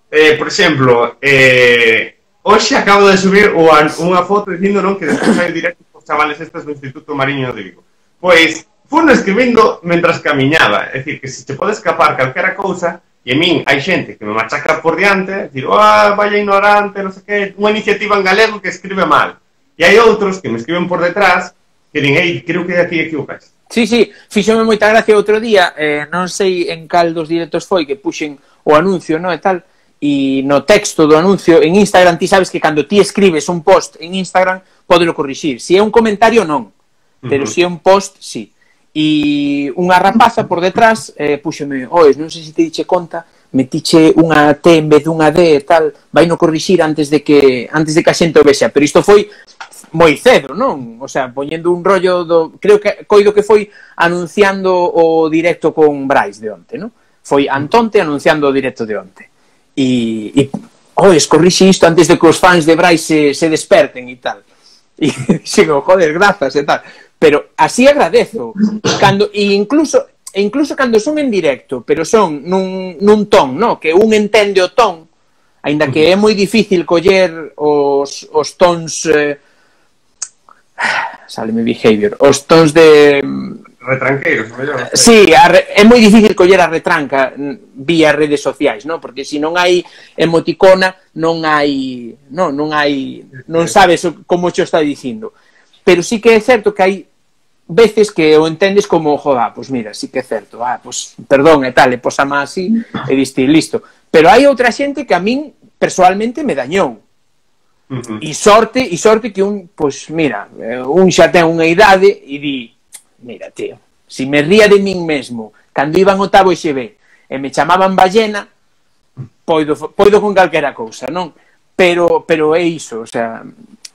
eh, por exemplo, eh, hoxe acabo de subir unha foto dicindo non que despois hai directo os chavales estes do Instituto Mariño de Vigo. Pois, funo escribindo mentras camiñaba, é dicir, que se te pode escapar calquera cousa, e a min hai xente que me machaca por diante, dicir, ah, vaya ignorante, non sei que, unha iniciativa en galego que escribe mal. E hai outros que me escriben por detrás que din, ei, creo que aquí equivocas. Sí, sí, fíxome moita gracia outro día, eh, non sei en cal dos directos foi que puxen o anuncio, no, e tal, e no texto do anuncio en Instagram, ti sabes que cando ti escribes un post en Instagram, pódelo corrixir. Se é un comentario, non, pero uh -huh. se é un post, sí. E unha rapaza por detrás eh, puxeme, oes, non sei se te diche conta, metiche unha T en vez dunha D e tal, vai no corrixir antes de que antes de que a xente o vexa, pero isto foi moi cedo, non? O sea, poñendo un rollo do... Creo que coido que foi anunciando o directo con Brais de onte, non? Foi Antonte anunciando o directo de onte. E, e oh, escorrixe isto antes de que os fans de Brais se, se desperten e tal. E dixen, joder, grazas e tal. Pero así agradezo. Cando, e incluso, e incluso cando son en directo, pero son nun, nun ton, no? Que un entende o ton, aínda que é moi difícil coller os, os tons... Eh, saleme behavior, os tons de... Retranqueiros, mellor. Sí, a re, é moi difícil coller a retranca vía redes sociais, non? Porque se non hai emoticona, non hai, non, non hai, non sabes como xo está dicindo. Pero sí que é certo que hai veces que o entendes como, joda, pois mira, sí que é certo, ah, pois perdón e tal, e posama así, e diste, listo. Pero hai outra xente que a min personalmente me dañou. Uh-huh. E sorte, e sorte que un, pois mira, un xa ten unha idade e di, mira, tío, si me ría de min mesmo cando iban o octavo X B e me chamaban ballena, poido, poido con calquera cousa, non? Pero, pero é iso, o sea,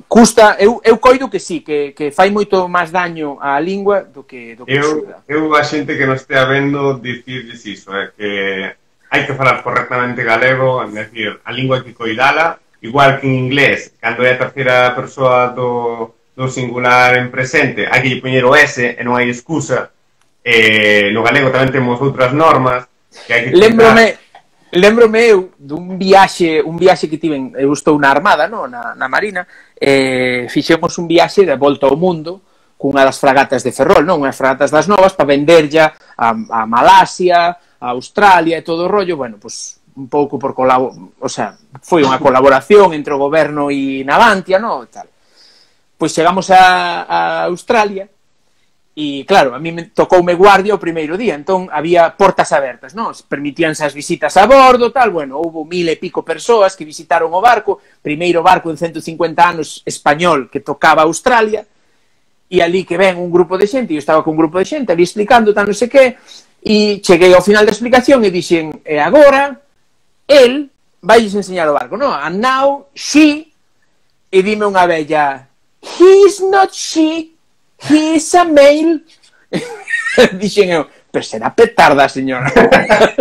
custa, eu, eu coido que sí, que, que fai moito máis daño á lingua do que, do que eu, xuda. Eu a xente que non estea vendo dicirles iso, é que hai que falar correctamente galego, é dicir, a lingua hai que coidala, igual que en inglés, cando é a terceira persoa do, do singular en presente, hai que lle poñer o S e non hai excusa. Eh, no galego tamén temos outras normas que hai que Lembrome, lembrome eu dun viaxe, un viaxe que tiven, eu estou na Armada, no? na, na Marina, eh, fixemos un viaxe de volta ao mundo cunha das fragatas de Ferrol, non? Unhas fragatas das novas para venderlla a, a Malasia, a Australia e todo o rollo, bueno, pois... Pues, un pouco por colabor, o sea, foi unha colaboración entre o goberno e Navantia, no, tal. Pois chegamos a, a Australia e, claro, a mí me tocoume guardia o primeiro día, entón había portas abertas, non? Permitíanse as visitas a bordo, tal, bueno, houve mil e pico persoas que visitaron o barco, primeiro barco en ciento cincuenta anos español que tocaba Australia, e ali que ven un grupo de xente, eu estaba con un grupo de xente ali explicando, tal, non sei que, e cheguei ao final da explicación e dixen, e agora... el vailles enseñar o barco, no? And now, she, e dime unha bella, he's not she, he's a male. Dixen eu, pero será petarda, señora.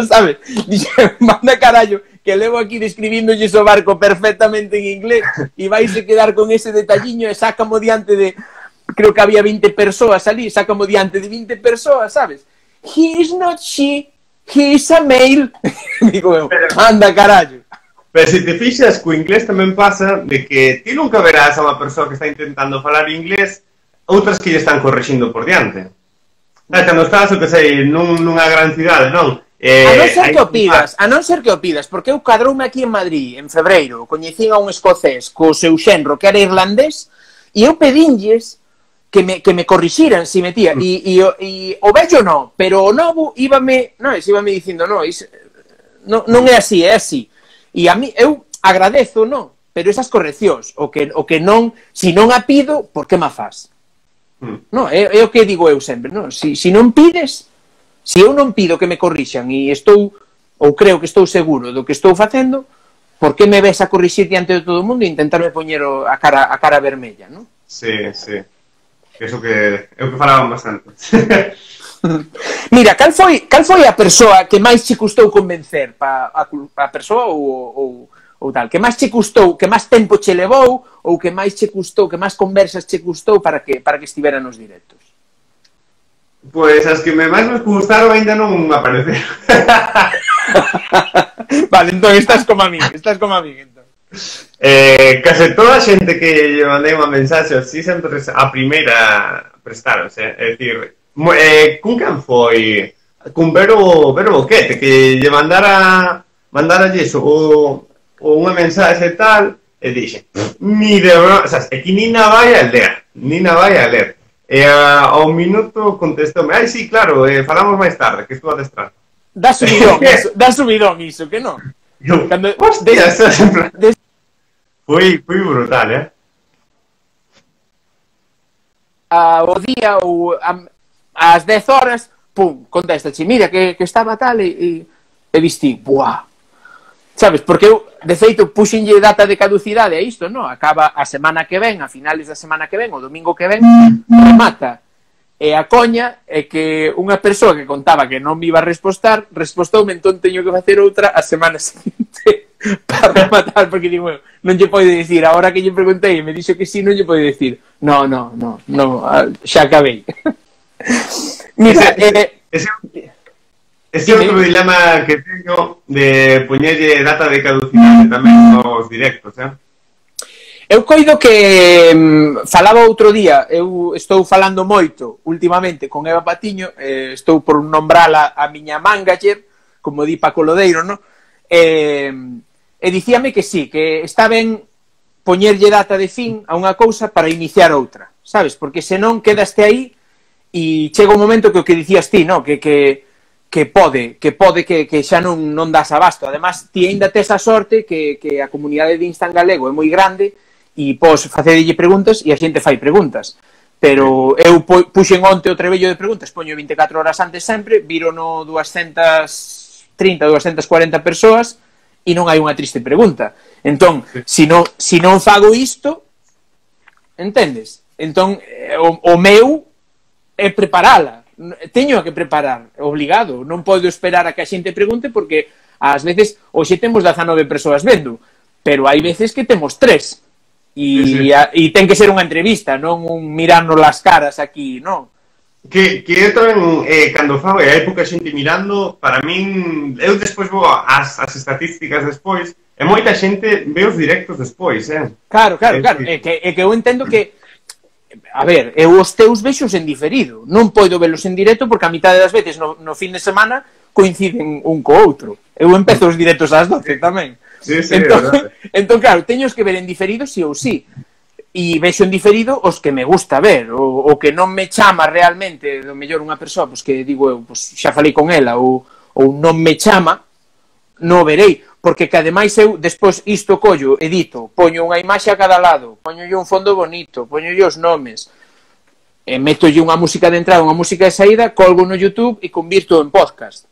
Sabes? Dixen, manda carallo, que levo aquí describíndolle o barco perfectamente en inglés e vaise quedar con ese detalliño e sácamo diante de, creo que había veinte persoas ali, sácamo diante de veinte persoas, sabes? He's not she, he's a male. Digo eu, anda carallo. Pero se te fixas, co inglés tamén pasa de que ti nunca verás a unha persoa que está intentando falar inglés, outras que lle están correxindo por diante. Cando estás, o que sei, nun, nunha gran cidade, non? Eh, a non ser que o pidas, a non ser que o pidas, porque eu cadroume aquí en Madrid, en febreiro, coñecín a un escocés co seu xenro que era irlandés, e eu pedinlles que me, que me corrixiran, si metía, e, e, e o vello non, pero o novo íbame, non, íbame dicindo, non, is, non, non é así, é así. E a mí, eu agradezo, non, pero esas correccións, o que, o que non, si non a pido, por que ma faz? Mm. Non, é, é o que digo eu sempre, non, si, si non pides, si eu non pido que me corrixan e estou, ou creo que estou seguro do que estou facendo, por que me ves a corrixir diante de todo o mundo e intentarme poñer a cara, a cara vermella, non? Sí, sí. Eso que é o que falaban bastante. Mira, cal foi, cal foi a persoa que máis che custou convencer pa a, a persoa ou, ou, ou tal? Que máis che custou, que máis tempo che levou ou que máis che custou, que máis conversas che custou para que para que estivera nos directos? Pois as que me máis me gustaron ainda non apareceron. Vale, entón estás como a mí, estás como a mí, entón. Eh, case toda a xente que lle mandei unha mensaxe así sempre a primeira prestaronse, é dicir, eh, cun quen foi? Cun Vero, Vero Boquete, que lle mandara mandara iso, o, o unha mensaxe e tal, e dixe, ni de broma, o sea, é que ni na vai a ler, ni na vai a ler. E a, ao minuto contestoume, ai, sí, claro, eh, falamos máis tarde, que estou a destrar. Da subidón, iso, da subidón iso, que non? Yo, Cando, hostia, estás en plan... Des... Foi, foi brutal, eh? A, o día ou a, ás dez horas, pum, contéstache, mira, que, que estaba tal, e, e, e vistí, buah. Sabes, porque eu, de feito, puxenlle data de caducidade a isto, non? Acaba a semana que ven, a finales da semana que ven, o domingo que ven, remata. E a coña é que unha persoa que contaba que non me iba a respostar, respostoume, entón teño que facer outra a semana seguinte. para rematar, porque digo, bueno, non lle pode dicir, agora que lle preguntei e me dixo que sí, non lle pode dicir, no, no, no, no, xa acabei. Mira, ese, eh, ese, ese é outro dilema que teño de poñerlle data de caducidade tamén nos directos, eh? Eu coido que mm, falaba outro día, eu estou falando moito últimamente con Eva Patiño, eh, estou por nombrala a miña manager, como di Paco Lodeiro, no? Eh, e dicíame que sí, que está ben poñerlle data de fin a unha cousa para iniciar outra, sabes? Porque senón quedaste aí e chega un momento que o que dicías ti, no? Que, que, que pode, que pode que, que xa non, non das abasto. Además, ti ainda tes a sorte que, que a comunidade de Insta en galego é moi grande e pos facedelle preguntas e a xente fai preguntas. Pero eu puxen onte o trebello de preguntas, poño vinte e catro horas antes sempre, viro no doscientas trinta, doscientas cuarenta persoas e non hai unha triste pregunta. Entón, se non, se non fago isto, entendes? Entón, o, o meu é preparala. Teño que preparar, obligado. Non podo esperar a que a xente pregunte porque ás veces, hoxe temos dezanove persoas vendo, pero hai veces que temos tres. E, sí, sí. A, e ten que ser unha entrevista, non un mirarnos las caras aquí, non? Que, que eu tamén, eh, cando fago, e hai pouca xente mirando, para min, eu despois vou as, as estatísticas despois, e moita xente ve os directos despois, eh? Claro, claro, é, claro, é que, é que eu entendo que, a ver, eu os teus vexos en diferido, non podo velos en directo porque a mitad das veces no, no fin de semana coinciden un co outro. Eu empezo os directos ás doce tamén. Sí, sí, entón, entón, claro, teños que ver en diferido si ou si. E vexo en diferido os que me gusta ver, o, o que non me chama realmente, do mellor unha persoa, pois que digo eu, pois xa falei con ela, ou, ou non me chama, non verei, porque que ademais eu, despois isto collo, edito, poño unha imaxe a cada lado, poño un fondo bonito, poño os nomes, e metolle unha música de entrada, unha música de saída, colgo no YouTube e convirto en podcast.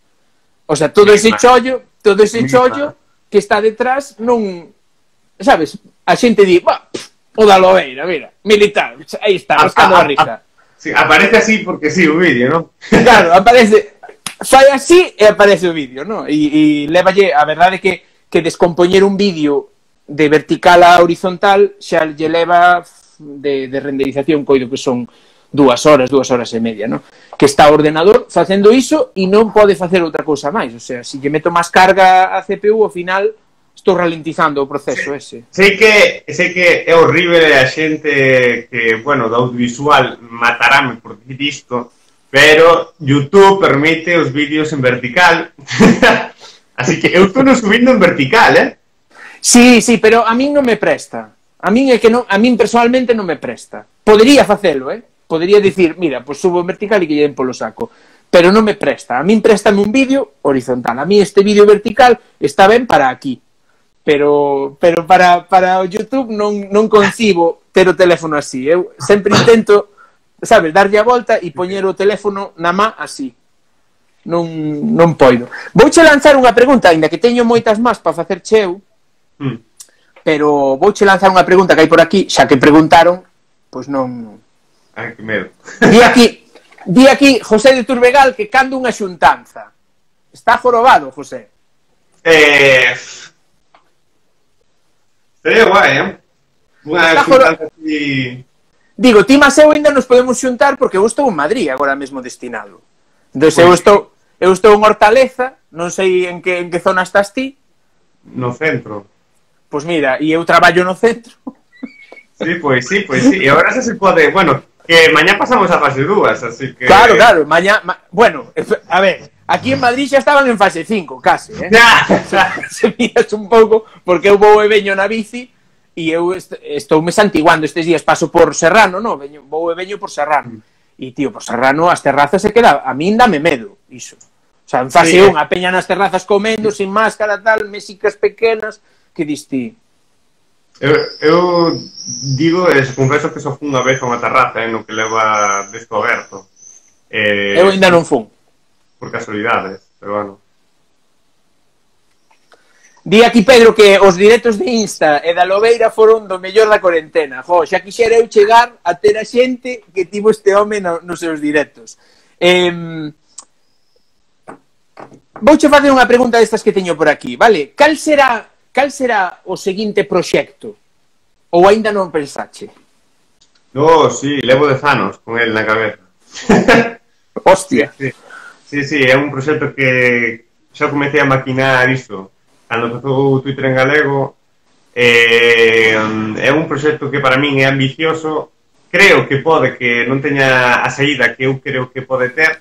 O sea, todo ese chollo, todo ese chollo que está detrás, non, sabes, a xente di, bah, o da Lobeira, mira, militar, aí está, buscando a, a, a risa. Sí, aparece así porque sí, o vídeo, non? Claro, aparece, fai así e aparece o vídeo, non? E, e levalle, a verdade que, que descompoñer un vídeo de vertical a horizontal xa lle leva de, de renderización, coido que son dúas horas, dúas horas e media, non? Que está o ordenador facendo iso e non pode facer outra cousa máis, o sea, se lle meto máis carga a C P U, ao final estou ralentizando o proceso ese. Sei que, sei que é horrible a xente que, bueno, do audiovisual matarame por dicir isto, pero YouTube permite os vídeos en vertical, así que eu estou non subindo en vertical, eh? Sí, sí, pero a min non me presta. A min é que non, a min personalmente non me presta. Podería facelo, eh? Podería dicir, mira, pois subo en vertical e que lle den polo saco. Pero non me presta. A min préstame un vídeo horizontal. A mí este vídeo vertical está ben para aquí. Pero pero para, para o YouTube non, non concibo ter o teléfono así. Eu sempre intento, sabes, darlle a volta e poñer o teléfono na má así. Non, non poido. Vouche lanzar unha pregunta, ainda que teño moitas más para facer cheu, mm. pero vouche lanzar unha pregunta que hai por aquí, xa que preguntaron, pois non... Ai, que medo. Di aquí, di aquí José de Turbegal que cando unha xuntanza. Está jorobado, José. Eh... Sería guai, eh? Unha xuntanza así... Digo, ti mas eu ainda nos podemos xuntar porque eu estou en Madrid agora mesmo destinado. Entón, pues... eu estou eu estou en Hortaleza, non sei en que, en que zona estás ti. No centro. Pois mira, e eu traballo no centro. Sí, pois sí, pois sí. E agora xa se pode... Bueno... Que mañá pasamos a fase dúas, así que... Claro, claro, mañá... Ma... Bueno, a ver, aquí en Madrid xa estaban en fase cinco, case, eh? se, se miras un pouco, porque eu vou e veño na bici e eu est estou me santiguando estes días, paso por Serrano, no? Veño, vou e veño por Serrano. E, tío, por Serrano as terrazas se queda... A min dame medo, iso. O sea, en fase sí, un, a peña nas terrazas comendo, sin máscara, tal, mesicas pequenas, que dis ti... Eu, eu digo, e confeso que só fun unha vez a unha terraza, eh, no que leva desto aberto. Eh, eu ainda non fun. Por casualidades, pero bueno. Di aquí Pedro que os directos de Insta e da Lobeira foron do mellor da cuarentena. Jo, xa quixera eu chegar a ter a xente que tivo este home no, nos seus directos. Eh, vouche facer unha pregunta destas que teño por aquí, vale? Cal será... cal será o seguinte proxecto? Ou aínda non pensache? No, sí, levo dez anos con el na cabeza. Hostia. Sí, sí, sí, é un proxecto que xa comecei a maquinar isto cando empezou o Twitter en galego. Eh, é un proxecto que para min é ambicioso. Creo que pode que non teña a saída que eu creo que pode ter.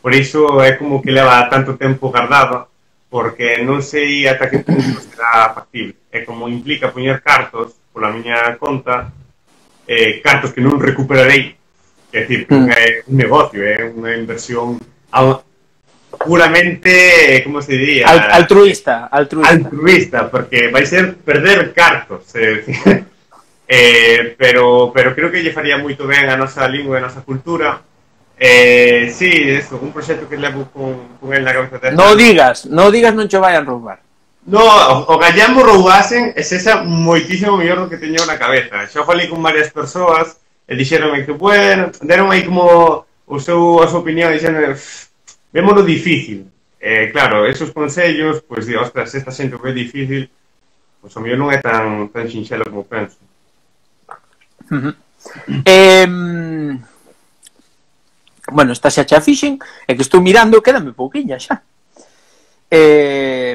Por iso é como que leva tanto tempo guardado, porque non sei ata que punto será factible. É como implica poñer cartos pola miña conta, eh, cartos que non recuperarei, é dicir, que mm. é un negocio, é unha inversión puramente, como se diría? Al, altruista, altruista. Altruista, porque vai ser perder cartos, é dicir, eh, pero, pero creo que lle faría moito ben a nosa lingua e a nosa cultura. Eh, sí, eso, un proxecto que levo con, con el na cabeza de... No digas, no digas non che vayan roubar. No, o, o gallambo roubasen é esa moitísimo mellor do que teño na cabeza. Xa falei con varias persoas e dixeronme que, bueno, deron aí como o seu, a súa opinión, dixeron, vémolo difícil. Eh, claro, esos consellos, pois, pues, ostras, esta xente que é difícil, pois, pues, o mellor non é tan, tan sinxelo como penso. Uh -huh. Eh... Bueno, esta xa xa fixen, é que estou mirando, quédame pouquiña xa. Eh...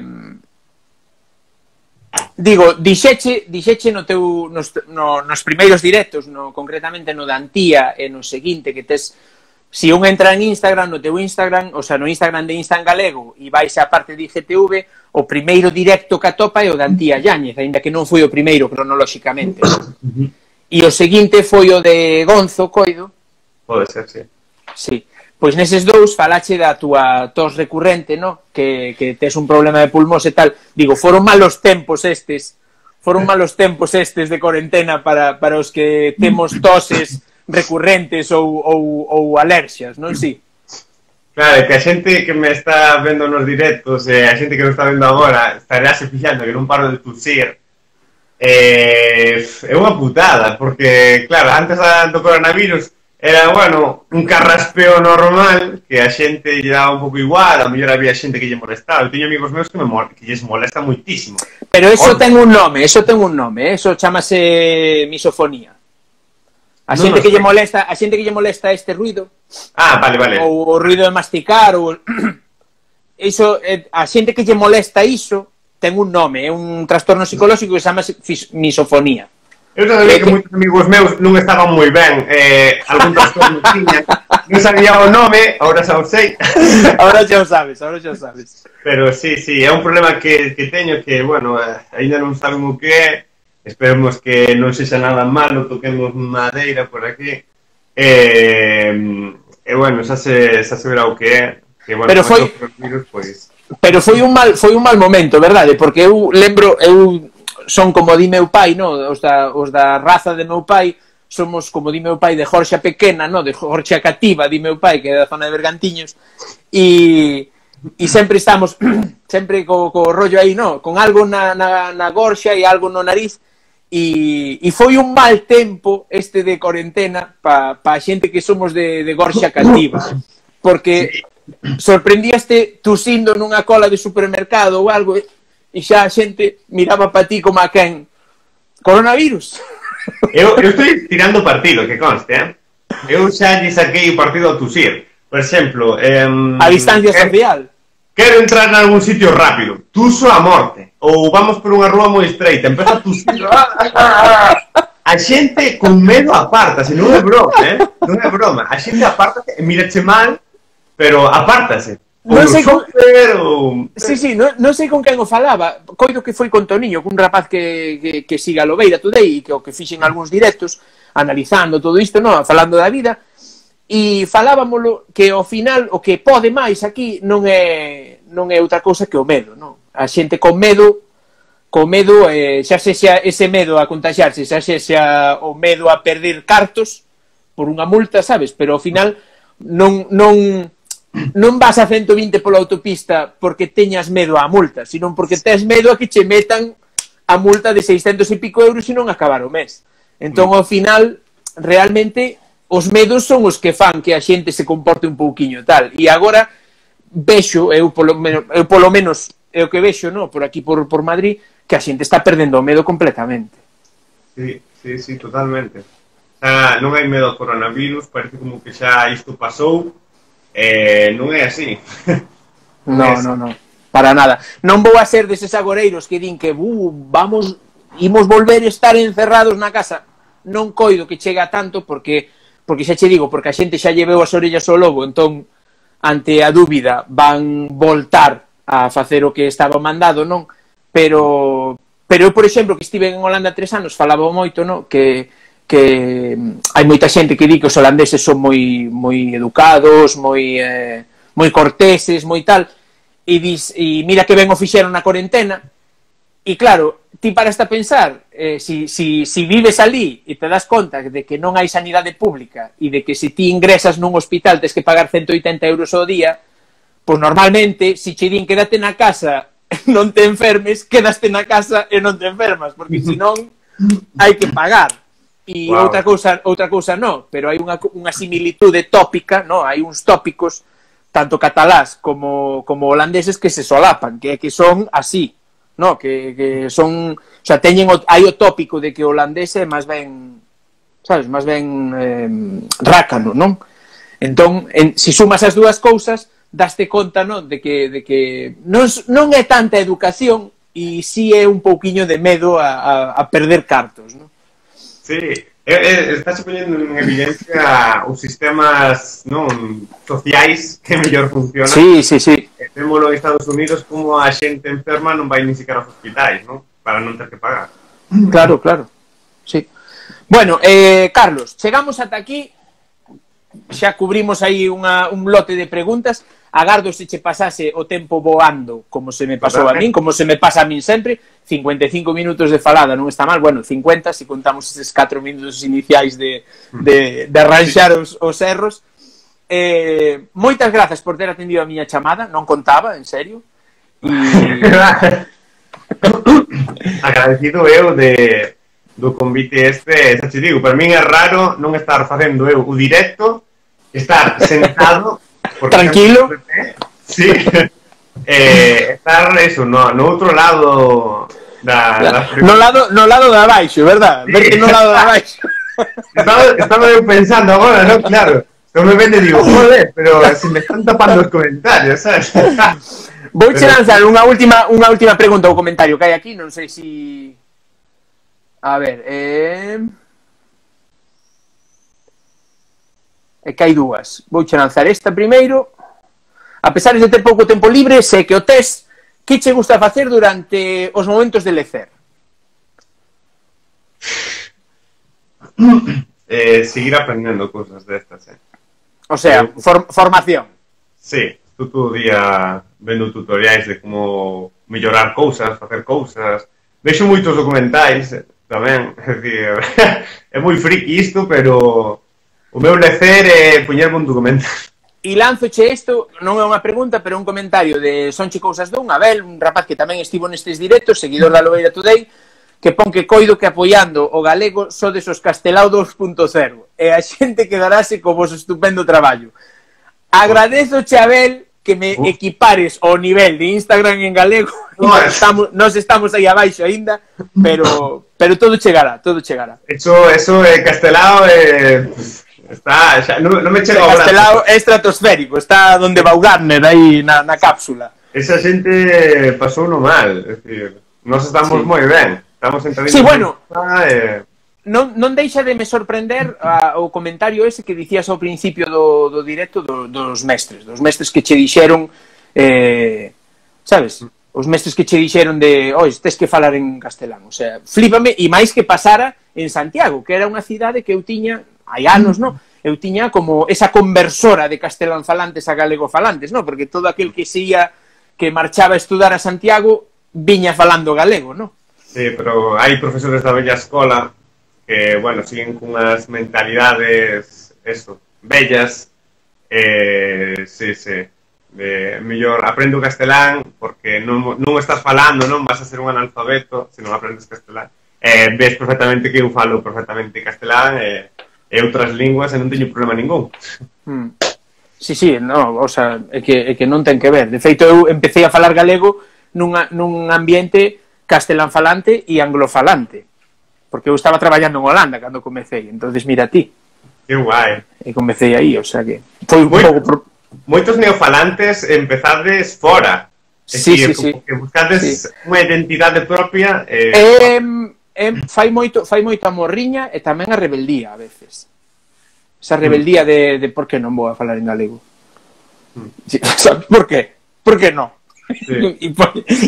Digo, dixeche, dixeche no teu, nos, no, nos primeiros directos, no, concretamente no da Antía e no seguinte, que tes, si un entra en Instagram, no teu Instagram, o sea, no Instagram de Insta en galego, e vais a parte de I G T V, o primeiro directo que atopa é o da Antía Yáñez, ainda que non foi o primeiro cronolóxicamente. E o seguinte foi o de Gonzo, coido. Pode ser, sí. Sí. Pois neses dous falache da túa tos recurrente, no? Que, que tes un problema de pulmós e tal. Digo, foron malos tempos estes, foron malos tempos estes de cuarentena para, para os que temos toses recurrentes ou, ou, ou alerxias, non si? Claro, que a xente que me está vendo nos directos e a xente que nos está vendo agora estaréase fixando que non paro de tusir. Eh, é unha putada, porque, claro, antes do coronavirus era, bueno, un carraspeo normal que a xente lle daba un pouco igual, a mellor había xente que lle molestaba. Eu teño amigos meus que, me mol que lles molesta moitísimo. Pero eso o... ten un nome, eso ten un nome, eso chamase misofonía. A no, xente no que lle molesta, a xente que lle molesta este ruido. Ah, vale, vale. Ou o ruido de masticar, ou iso, a xente que lle molesta iso ten un nome, é un trastorno psicolóxico que se chama misofonía. Eu xa sabía que moitos amigos meus non estaban moi ben, eh, algún trastorno tiña, non sabía o nome, agora xa o sei. Agora xa o sabes, agora xa o sabes. Pero sí, sí, é un problema que, que teño que, bueno, eh, ainda non saben o que é, esperemos que non sexa nada malo, toquemos madeira por aquí, e, e bueno, xa se, xa se verá o que é, que, bueno, pero foi, virus, pois... pero foi un mal, foi un mal momento, verdade? Porque eu lembro, eu... son como di meu pai, no? Os da, os da raza de meu pai somos como di meu pai de Jorxa Pequena, no? De Jorxa Cativa, di meu pai, que é da zona de Bergantiños, e, e sempre estamos sempre co, co rollo aí, no? Con algo na, na, na gorxa e algo no nariz, e, e foi un mal tempo este de cuarentena pa, pa xente que somos de, de Gorxa Cativa, porque sorprendíaste tusindo nunha cola de supermercado ou algo, e xa a xente miraba para ti como a quen. Coronavirus. Eu, eu estou tirando partido, que conste, eh? Eu xa lle saquei o partido a tusir. Por exemplo... Eh, a distancia quero, social. Quero entrar en algún sitio rápido. Tuso a morte. Ou vamos por unha rúa moi estreita. Empeza a tusir. A xente con medo apártase. Non é broma, eh? Non é broma. A xente apártase e mirache mal, pero apártase. Non sei con... ou... Sí, sí, non, non sei con quen o falaba. Coido que foi con Toniño, cun rapaz que, que, que siga a Lobeira Today e que o que fixen algúns directos analizando todo isto, no? Falando da vida, e falábamolo que ao final o que pode máis aquí non é non é outra cousa que o medo, no? A xente con medo con medo, eh, xa sexa ese medo a contagiarse, xa sexa o medo a perder cartos por unha multa, sabes? Pero ao final non non non vas a ciento vinte pola autopista porque teñas medo á multa, sino porque tes medo a que che metan a multa de seiscentos e pico euros e non acabar o mes. Entón, ao final, realmente, os medos son os que fan que a xente se comporte un pouquiño tal. E agora, vexo, eu polo menos, eu polo menos é o que vexo, no, por aquí, por, por Madrid, que a xente está perdendo o medo completamente. Sí, sí, sí, totalmente. Xa non hai medo ao coronavirus, parece como que xa isto pasou, eh, non é así. No, no, no, para nada. Non vou a ser deses agoreiros que din que uh, vamos, imos volver a estar encerrados na casa. Non coido que chega tanto porque, porque xa che digo, porque a xente xa lleveu as orellas ao lobo, entón, ante a dúbida, van voltar a facer o que estaba mandado, non? Pero, pero eu, por exemplo, que estive en Holanda tres anos, falaba moito, non? Que, que hai moita xente que di que os holandeses son moi, moi educados, moi, eh, moi corteses, moi tal, e, dis, e mira que ben o fixeron na cuarentena, e claro, ti paras a pensar, eh, si, si, si vives ali e te das conta de que non hai sanidade pública e de que se ti ingresas nun hospital tes que pagar ciento oitenta euros ao día, pois normalmente, se che din quédate na casa non te enfermes, quedaste na casa e non te enfermas, porque senón hai que pagar. E wow. outra cousa, outra cousa non, pero hai unha, unha similitude tópica, non? Hai uns tópicos, tanto catalás como, como holandeses, que se solapan, que, que son así, non? Que, que son, o sea, teñen o, hai o tópico de que o holandés é máis ben, sabes, máis ben eh, rácano, non? Entón, en, si sumas as dúas cousas, daste conta, non? De que, de que non, non é tanta educación e si é un pouquiño de medo a, a, a perder cartos, non? Sí, eh, eh, estás ponendo en evidencia os sistemas non sociais que mellor funcionan. Sí, sí, sí. E témolo en Estados Unidos como a xente enferma non vai nin siquiera aos hospitais, non? Para non ter que pagar. Claro, claro. Sí. Bueno, eh, Carlos, chegamos ata aquí. Xa cubrimos aí unha, un lote de preguntas. Agardo se che pasase o tempo voando como se me pasou a min, como se me pasa a min sempre. cincuenta e cinco minutos de falada non está mal. Bueno, cincuenta se contamos eses catro minutos iniciais de, de, de arranxar os, os erros. Eh, moitas grazas por ter atendido a miña chamada. Non contaba, en serio. E... Agradecido eu de, do convite este. Xa te digo, para min é raro non estar facendo eu o directo, estar sentado tranquilo. Sí. Eh, estar eso, no, no outro lado da, da... No lado, no lado de abaixo, verdad? Sí. Verte no lado de abaixo. Estaba, estaba eu pensando agora, ¿no? Claro. Eu me vende e digo, joder, pero se me están tapando os comentarios, ¿sabes? Vou che lanzar unha última, unha última pregunta ou comentario que hai aquí, non sei si... A ver, eh... é que hai dúas. Vou che lanzar esta primeiro. A pesar de ter pouco tempo libre, sei que o tes, que che gusta facer durante os momentos de lecer? Eh, seguir aprendendo cosas destas, eh. O sea, for, formación. Sí, tú todo o día vendo tutoriais de como mellorar cousas, facer cousas. Vexo moitos documentais tamén, é dicir, é moi friki isto, pero o meu lecer é poñerme un documental. E lanzoche isto, non é unha pregunta, pero un comentario de Sonche Cousas dun, Abel, un rapaz que tamén estivo nestes directos, seguidor da Lobeira Today, que pon que coido que apoiando o galego sodes os Castelao dos punto cero e a xente quedarase co vos estupendo traballo. Agradezoche, Abel, que me uh. equipares ao nivel de Instagram en galego. Nos estamos, nos estamos aí abaixo aínda, pero pero todo chegará, todo chegará. Eso, eso é Castelao eh, está, xa, non, non me chega ao brazo. Castelao é estratosférico, está donde va o Gardner aí na, na cápsula. Esa xente pasou no mal, é dicir, nós estamos sí. moi ben. Estamos entradinhos. Sí, bueno. Eh... Non, non deixa de me sorprender a, o comentario ese que dicías ao principio do, do directo do, dos mestres, dos mestres que che dixeron, eh, sabes, os mestres que che dixeron de, oi, tes que falar en castelán, o sea, flípame, e máis que pasara en Santiago, que era unha cidade que eu tiña, hai anos, non? Eu tiña como esa conversora de castelán falantes a galego falantes, non? Porque todo aquel que se ia, que marchaba a estudar a Santiago, viña falando galego, non? Sí, pero hai profesores da bella escola que, bueno, siguen cunhas mentalidades, eso, bellas, eh, sí, sí, de mellor aprendo castelán porque non, non estás falando, non vas a ser un analfabeto se non aprendes castelán. Eh, ves perfectamente que eu falo perfectamente castelán e, e outras linguas e non teño problema ningún. Hmm. Sí, sí, no, o sea, é que, é que non ten que ver. De feito, eu empecé a falar galego nunha, nun ambiente castelán-falante e anglofalante. Porque eu estaba traballando en Holanda cando comecei, entonces mira ti. Que guai. E comecei aí, o sea que... Foi un Moi, pouco... Pro... Moitos neofalantes empezades fora. Sí, decir, sí, sí. Que buscades sí. unha identidade propia. Eh... Eh, eh, fai moito fai moita morriña e tamén a rebeldía a veces. Esa rebeldía de, de por que non vou a falar en galego. Mm. Sí, por que? Por que non? Sí.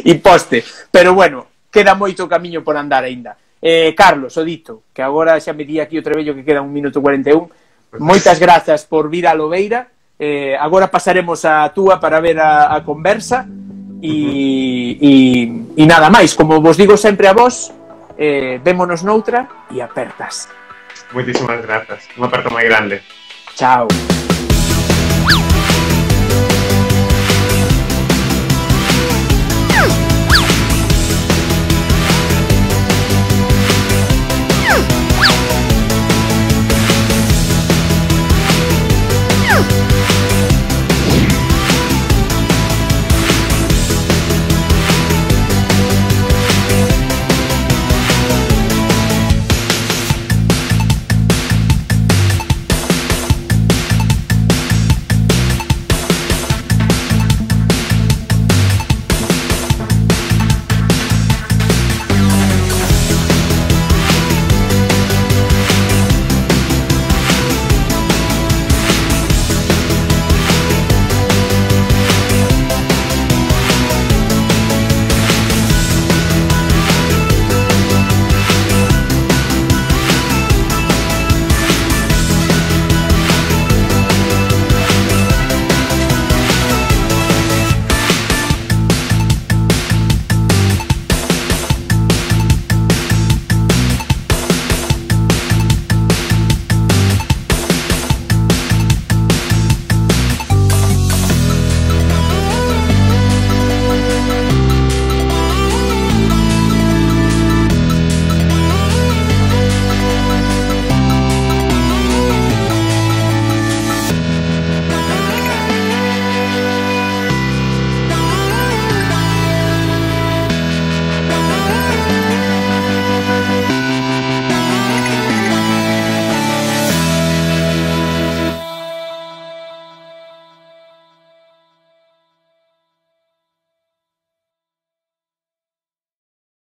E poste. Pero bueno, queda moito camiño por andar aínda. Eh, Carlos, o dito, que agora xa me di aquí o trebello que queda un minuto cuarenta e un. Moitas grazas por vir a Lobeira. Eh, agora pasaremos a túa para ver a, a conversa. E, e, e nada máis, como vos digo sempre a vos, eh, vémonos noutra e apertas. Moitísimas grazas, unha aperta moi grande. Chao.